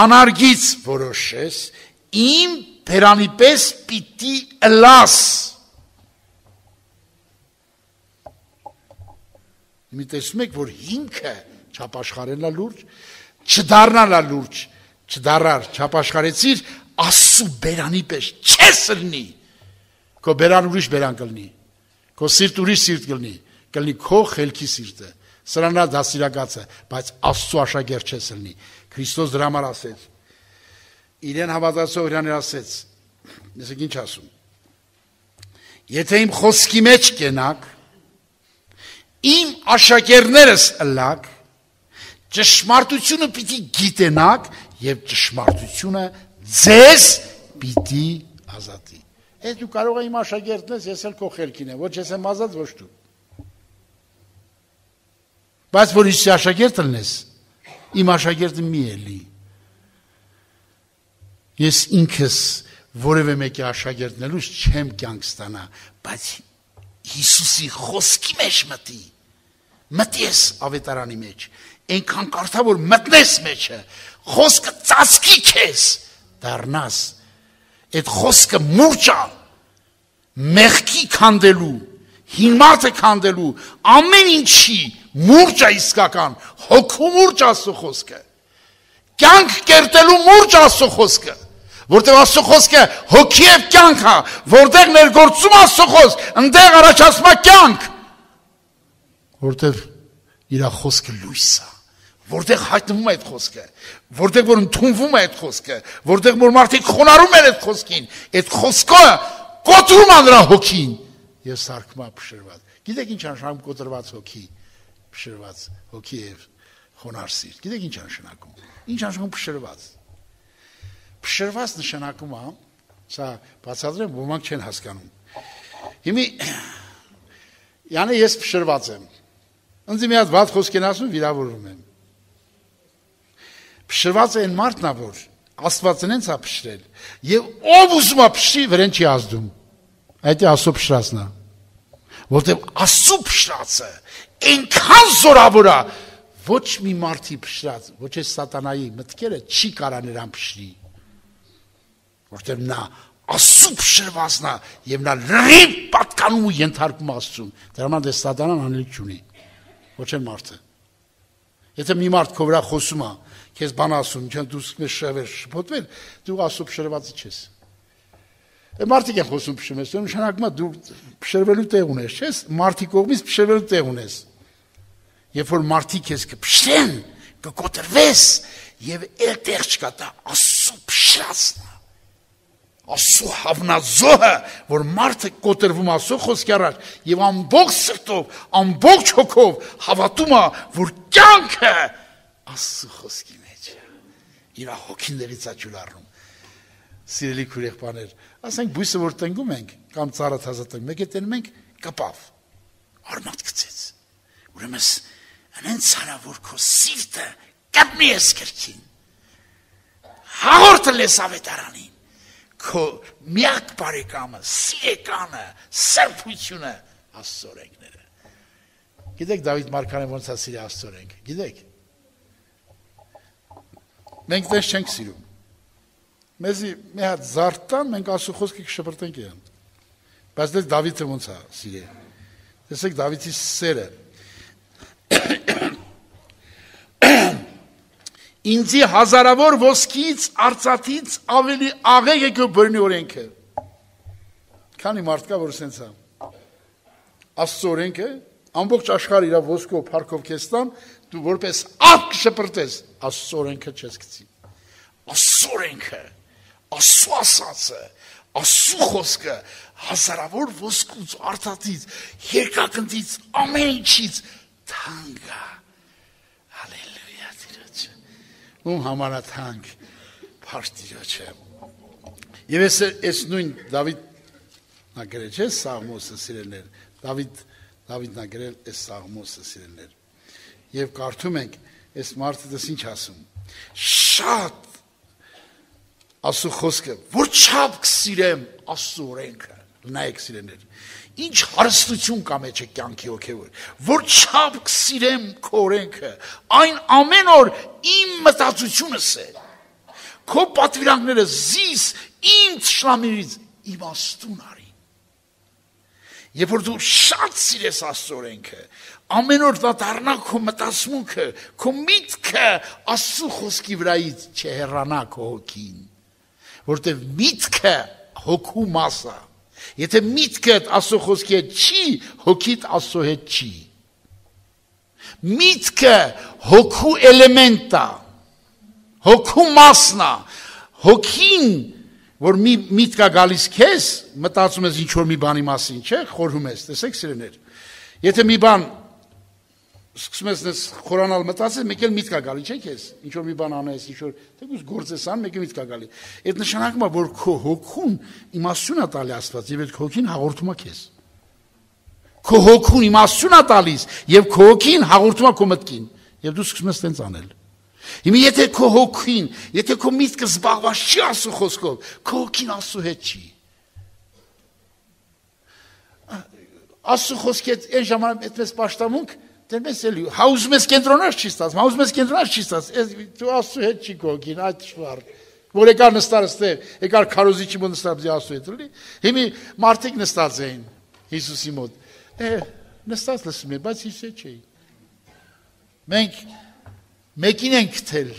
անարգից որոշես, իմ Բերանի պես պիտի ըլաս։ Մի տեսնում եք, որ հիմքը չապաշխարելա լուրջ, չդառնալա լուրջ, չդառար, չապաշխարեցիր, Աստծու բերանի պես չես ըլնի, քո բերան ուրիշ բերան կլնի, քո սիրտ ուրիշ սիրտ կլնի քո խելքի սիրտը, սրանա դասիրակացը, բայց Աստծու աշակերտ չես ըլնի, Քրիստոս դրա համար ասեց, իրեն հավատացող իրաներ ասեց, նեսեք ինչ ասում, եթե իմ խոսքի մեջ կենակ, իմ աշակերներս ըլակ, ճշմարտությունը պիտի գիտենաք եւ ճշմարտությունը ձեզ պիտի ազատի։ Այդ դու կարող ես իմ աշակերտն ես, ես էլ քո խելքին եմ, ոչ ես եմ ազատ, ոչ դու։ Բայց որ Հիսուսի աշակերտը լինես, իմ աշակերտը մի էլի։ Ես ինքս որևէ մեկի աշակերտնելուց չեմ կյանք ստանա, բայց Հիսուսի խոսքի մեջ մտես ավետարանի մեջ, այնքան կարդա որ մտնես մեջը, խոսքը ծածկի քեզ, դառնաս, այդ խոսքը մուրճա, մեղքի քանդելու, հիմարը քանդելու, ամեն ինչի մուրճա իսկական, հոգու մուրճ Աստծո խոսքը, կյանք կերտելու մուրճ Աստծո խոսքը, որտեղ Աստծո խոսքը հոգի եւ կյանք է, որտեղ ներգործում Աստծո խոսք, այնտեղ առաջացնում է կյանք, որտեղ իր խոսքը լույս է, որտեղ հայտնվում է այդ խոսքը, որտեղ որ ընդունվում է այդ խոսքը, որտեղ որ մարդիկ խոնարհում են այդ խոսքին, այդ խոսքը կոտրում է նրա հոգին եւ սարքում է փշրված։ Գիտեք ինչ նշանակում կոտրված հոգի, փշրված հոգի եւ խոնարհ սիրտ։ Գիտեք ինչ նշանակում։ Ինչ նշանակում փշրված։ Փշրված նշանակում է, սա բացատրեմ, ոմանք չեն հասկանում։ Հիմի յանը ես փշրված եմ։ Ինձ մի հատ վատ խոսք են ասում, վիրավորում եմ։ Փշրված է այն մարդն է, որ Աստվածն ինձ է փշրել, եւ ով ուզում է փշրի, վրան չի ազդում։ Այդ է Աստծո փշրածն է։ Որտեղ Աստծո փշրածը այնքան զորավոր է, ոչ մի մարդի փշրած, ոչ է սատանայի մտքերը չի կարա նրան փշրի։ Որտեղ նա Աստծո փշրվածն է եւ նա լրիվ պատկանում ու ենթարկում Աստծուն։ Դրա համար դե սատանան անելիք չունի։ Ոչ է մարդը։ Եթե մի մարդ քո վրա խոսում է, քեզ բան ասում, չեն դու սկսում ես շևեր շփոթվել, դու Աստծո փշրվածը չես։ Այդ մարդիկ են խոսում փշրում, նշանակում է դու փշրվելու տեղ ունես, չես, մարդի կողմից փշրվելու տեղ ունես։ Երբ որ մարդիկ քեզ կփշրեն, կկոտրվես եւ այդտեղ չկա դա Աստծո փշրածն է։ Աստծո հավնազոհը, որ մարդը կոտրվում Աստծո խոսքի առաջ եւ ամբողջ սրտով, ամբողջ հոգով հավատում է, որ կյանքը Աստծո խոսքի մեջ է։ Իր հոգիներից է ջուր առնում։ Սիրելի քուրեղբաներ, ասենք բույսը որ տնգում ենք կամ ծառը թազատենք, մեկ է տենում ենք կպավ, արմատ գցեց։ Ուրեմն անեն ցարա որ քո սիրտը կապնի ես քրքին։ Հաղորդել ես ավետարանին։ Քո միակ բարեկամը, սիրեկանը, սրբությունը Աստծո օրենքները։ Գիտեք Դավիթ Մարգարեն ոնց է սիրի Աստծո օրենքը, գիտեք։ Մենք դες չենք սիրում։ Մեզի մի հատ զարտան մենք Աստծո խոսքը կշպրտենք իրան։ Բայց դες Դավիթը ոնց է սիրի։ Տեսեք Դավիթի սերը։ Ինձի հազարավոր ոսկից, արծաթից ավելի աղեղ է քո բռնի օրենքը։ Քանի մարդ կա, որ սենց է։ Աստծո օրենքը, ամբողջ աշխարհը իր ոսկով, փառքով քեզ տան, դու որպես աղ կշպրտես, Աստծո օրենքը չես գցի։ Աստծո օրենքը, Աստծո ասածը, Աստծո խոսքը հազարավոր ոսկուց, արծաթից, երկակնդից, ամեն ինչից թանկ է։ Ում համանաթանք փաշտիրոջը։ Եվ ես նույն Դավիթ նագրել չէ Սաղմոսը սիրելներ, Դավիթ նագրել է Սաղմոսը սիրելներ։ Եվ կարդում ենք, այս մարդը դες ինչ ասում։ Շատ Աստծո խոսքը, որ չափ կսիրեմ Աստծո օրենքը, նայեք սիրելներ։ Ինչ հարստություն կա մեջ է կյանքի հոգևոր, որ չափ կսիրեմ քո օրենքը, այն ամեն օր իմ մտածությունս է, քո պատվիրանքները զիս իմ թշնամիներից իմաստուն արի։ Երբ որ դու շատ սիրես Աստծո օրենքը, ամեն օր դա դառնա քո մտածմունքը, քո միտքը Աստծո խոսքի վրայից չհեռանա քո հոգին, որտեղ միտքը հոգու մաս է։ Եթե միտքդ Աստծո խոսքի հետ չի, հոգիդ Աստծո հետ չի։ Միտքը հոգու էլեմենտ է, հոգու մասն է, հոգին, որ մի միտք է գալիս քեզ, մտածում ես ինչ որ մի բանի մասին, չէ, խորհում ես, տեսեք սիրելիներ։ Եթե մի բան սկսում ես խորանալ մտածես, մեկ էլ միտք է գալի, չէ՞ քեզ։ Ինչ որ մի բան անես, ինչ որ թեկուզ գործես ան, մեկ էլ միտք է գալի։ Այդ նշանակում է, որ քո հոգուն իմաստություն է տալի Աստված, եւ այդ հոգին հաղորդում է քեզ։ Քո հոգուն իմաստություն է տալիս, եւ քո հոգին հաղորդում է քո մտքին, եւ դու սկսում ես տենց անել։ Հիմա եթե քո հոգին, եթե քո միտքը զբաղված չի Աստծո խոսքով, քո հոգին Աստծո հետ չի։ Աստծո խոսքի հետ այն ժամանակ այդպես պաշտամունք դերպես էլի, հա ուզում ես կենտրոնալ չի ստացվում, հա ուզում ես կենտրոնալ չի ստացվում, դու Աստծո հետ չի կողքին, այդ շվար, որ եկար նստար ստեղ, եկար քարոզիչի մոտ նստար բզի Աստծո հետ էլի, հիմի մարդիկ նստած էին Հիսուսի մոտ, նստած լսում են, բայց Հիսուսը չէի։ Մենք մեկին ենք գտել,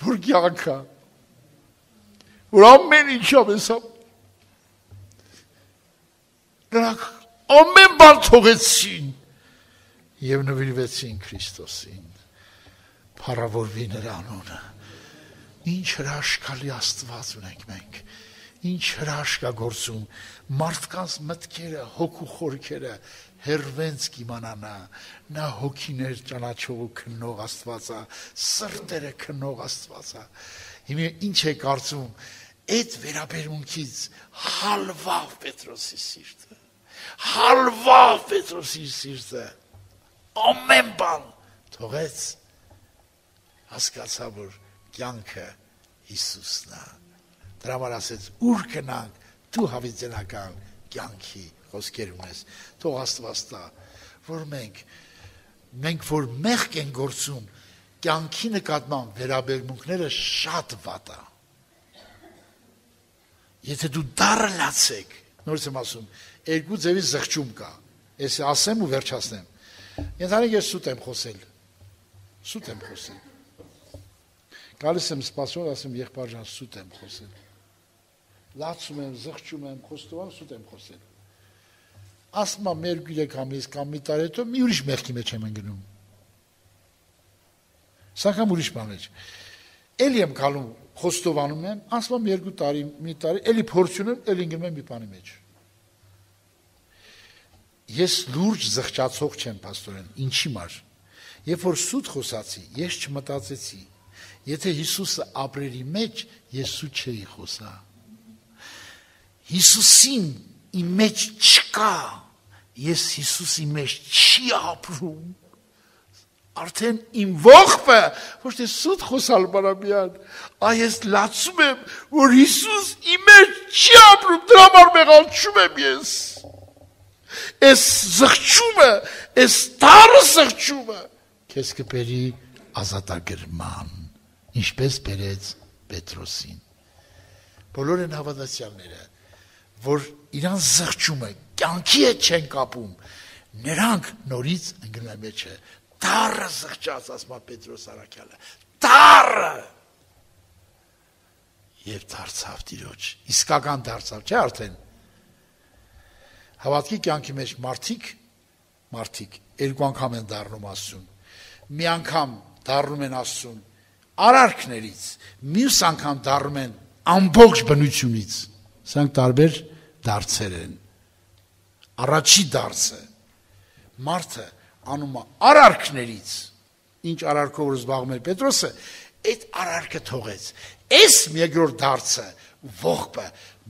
որ կյանքա, որ ամեն ինչը մեսա, նրանք ամեն բան թողեցին, և նվիրվեցին Քրիստոսին, փառավորվի նրա անունը, ինչ հրաշքալի Աստված ունենք մենք, ինչ հրաշք է գործում, մարդկանց մտքերը, հոգու խորքերը հերվենց կիմանանա, նա հոգիներ ճանաչող ու քննող Աստված է, սրտերը քննող Աստված է, հիմա ինչ է կարծում, այդ վերաբերմունքից հալվավ Պետրոսի սիրտը, հալվավ Պետրոսի սիրտը, ամեն բան թողեց, հասկացա, որ կյանքը Հիսուսն է, դրա համար ասեց, ուր գնանք, դու հավիտենական կյանքի խոսքեր ունես, թող Աստված տա, որ մենք որ մեղք են գործում, կյանքի նկատմամբ վերաբերմունքները շատ վատ է, եթե դու դառը լացեք, նորից եմ ասում, երկու ձևի զղջում կա, ես ասեմ ու վերջացնեմ, ենթանեք ես սուտ եմ խոսել, գալիս եմ սպասում, ասեմ եղբայր ջան, սուտ եմ խոսել, լացում եմ, զղջում եմ, խոստովանում, սուտ եմ խոսել, ասում եմ մեր 3 ամիս կամ մի տարի հետո մի ուրիշ մեղքի մեջ եմ ընկնում, սակայն ուրիշ բան մեջ, էլի եմ գալում, խոստովանում եմ, ասում եմ 2 տարի, մի տարի, էլի փորձում եմ, էլի ընկնում եմ մի բանի մեջ, ես լուրջ զղջացող չեմ, պաստորեն, ինչի մար, երբ որ սուտ խոսացի, ես չմտածեցի, եթե Հիսուսը ապրերի մեջ, ես սուտ չէի խոսա, Հիսուսին իմ մեջ չկա, ես Հիսուսի մեջ չի ապրում, արդեն իմ ողբը, ոչ թե սուտ խոսալ բարամյան, այս լացում եմ, որ Հիսուս իմ մեջ չի ապրում, դրա համար մեղանչում եմ ես, այս զղջումը, այս տարը զղջումը, քեզ կբերի ազատագրման, ինչպես բերեց Պետրոսին, բոլոր են հավատացյալները, որ իրան զղջումը կյանքի հետ չեն կապում, նրանք նորից ընկնում են մեջը, տարը զղջաց, ասում է Պետրոս առաքյալը, տարը, և դարձավ Տիրոջ, իսկական դարձավ, չէ արդեն, հավատքի կյանքի մեջ մարդիկ, 2 անգամ են դառնում Աստծուն, մի անգամ դառնում են Աստծուն արարքներից, մյուս անգամ դառնում են ամբողջ բնությունից, սրանք տարբեր դարձեր են, առաջի դարձը, մարդը անում է արարքներից, ինչ արարքով որ զբաղվում էր Պետրոսը, այդ արարքը թողեց, այս երկրորդ դարձը, ողբը,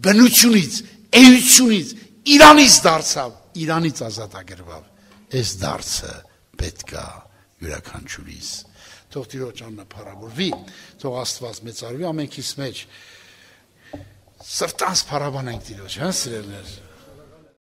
բնությունից, էությունից, Իրանից դարձավ, Իրանից ազատագրվավ, այս դարձը պետք է յուրաքանչյուրիս, թող Տիրոջ անունը փառավորվի, թող Աստված մեծարվի ամենքիս մեջ, սրտանց փառաբանենք Տիրոջ, հա սիրելիներ,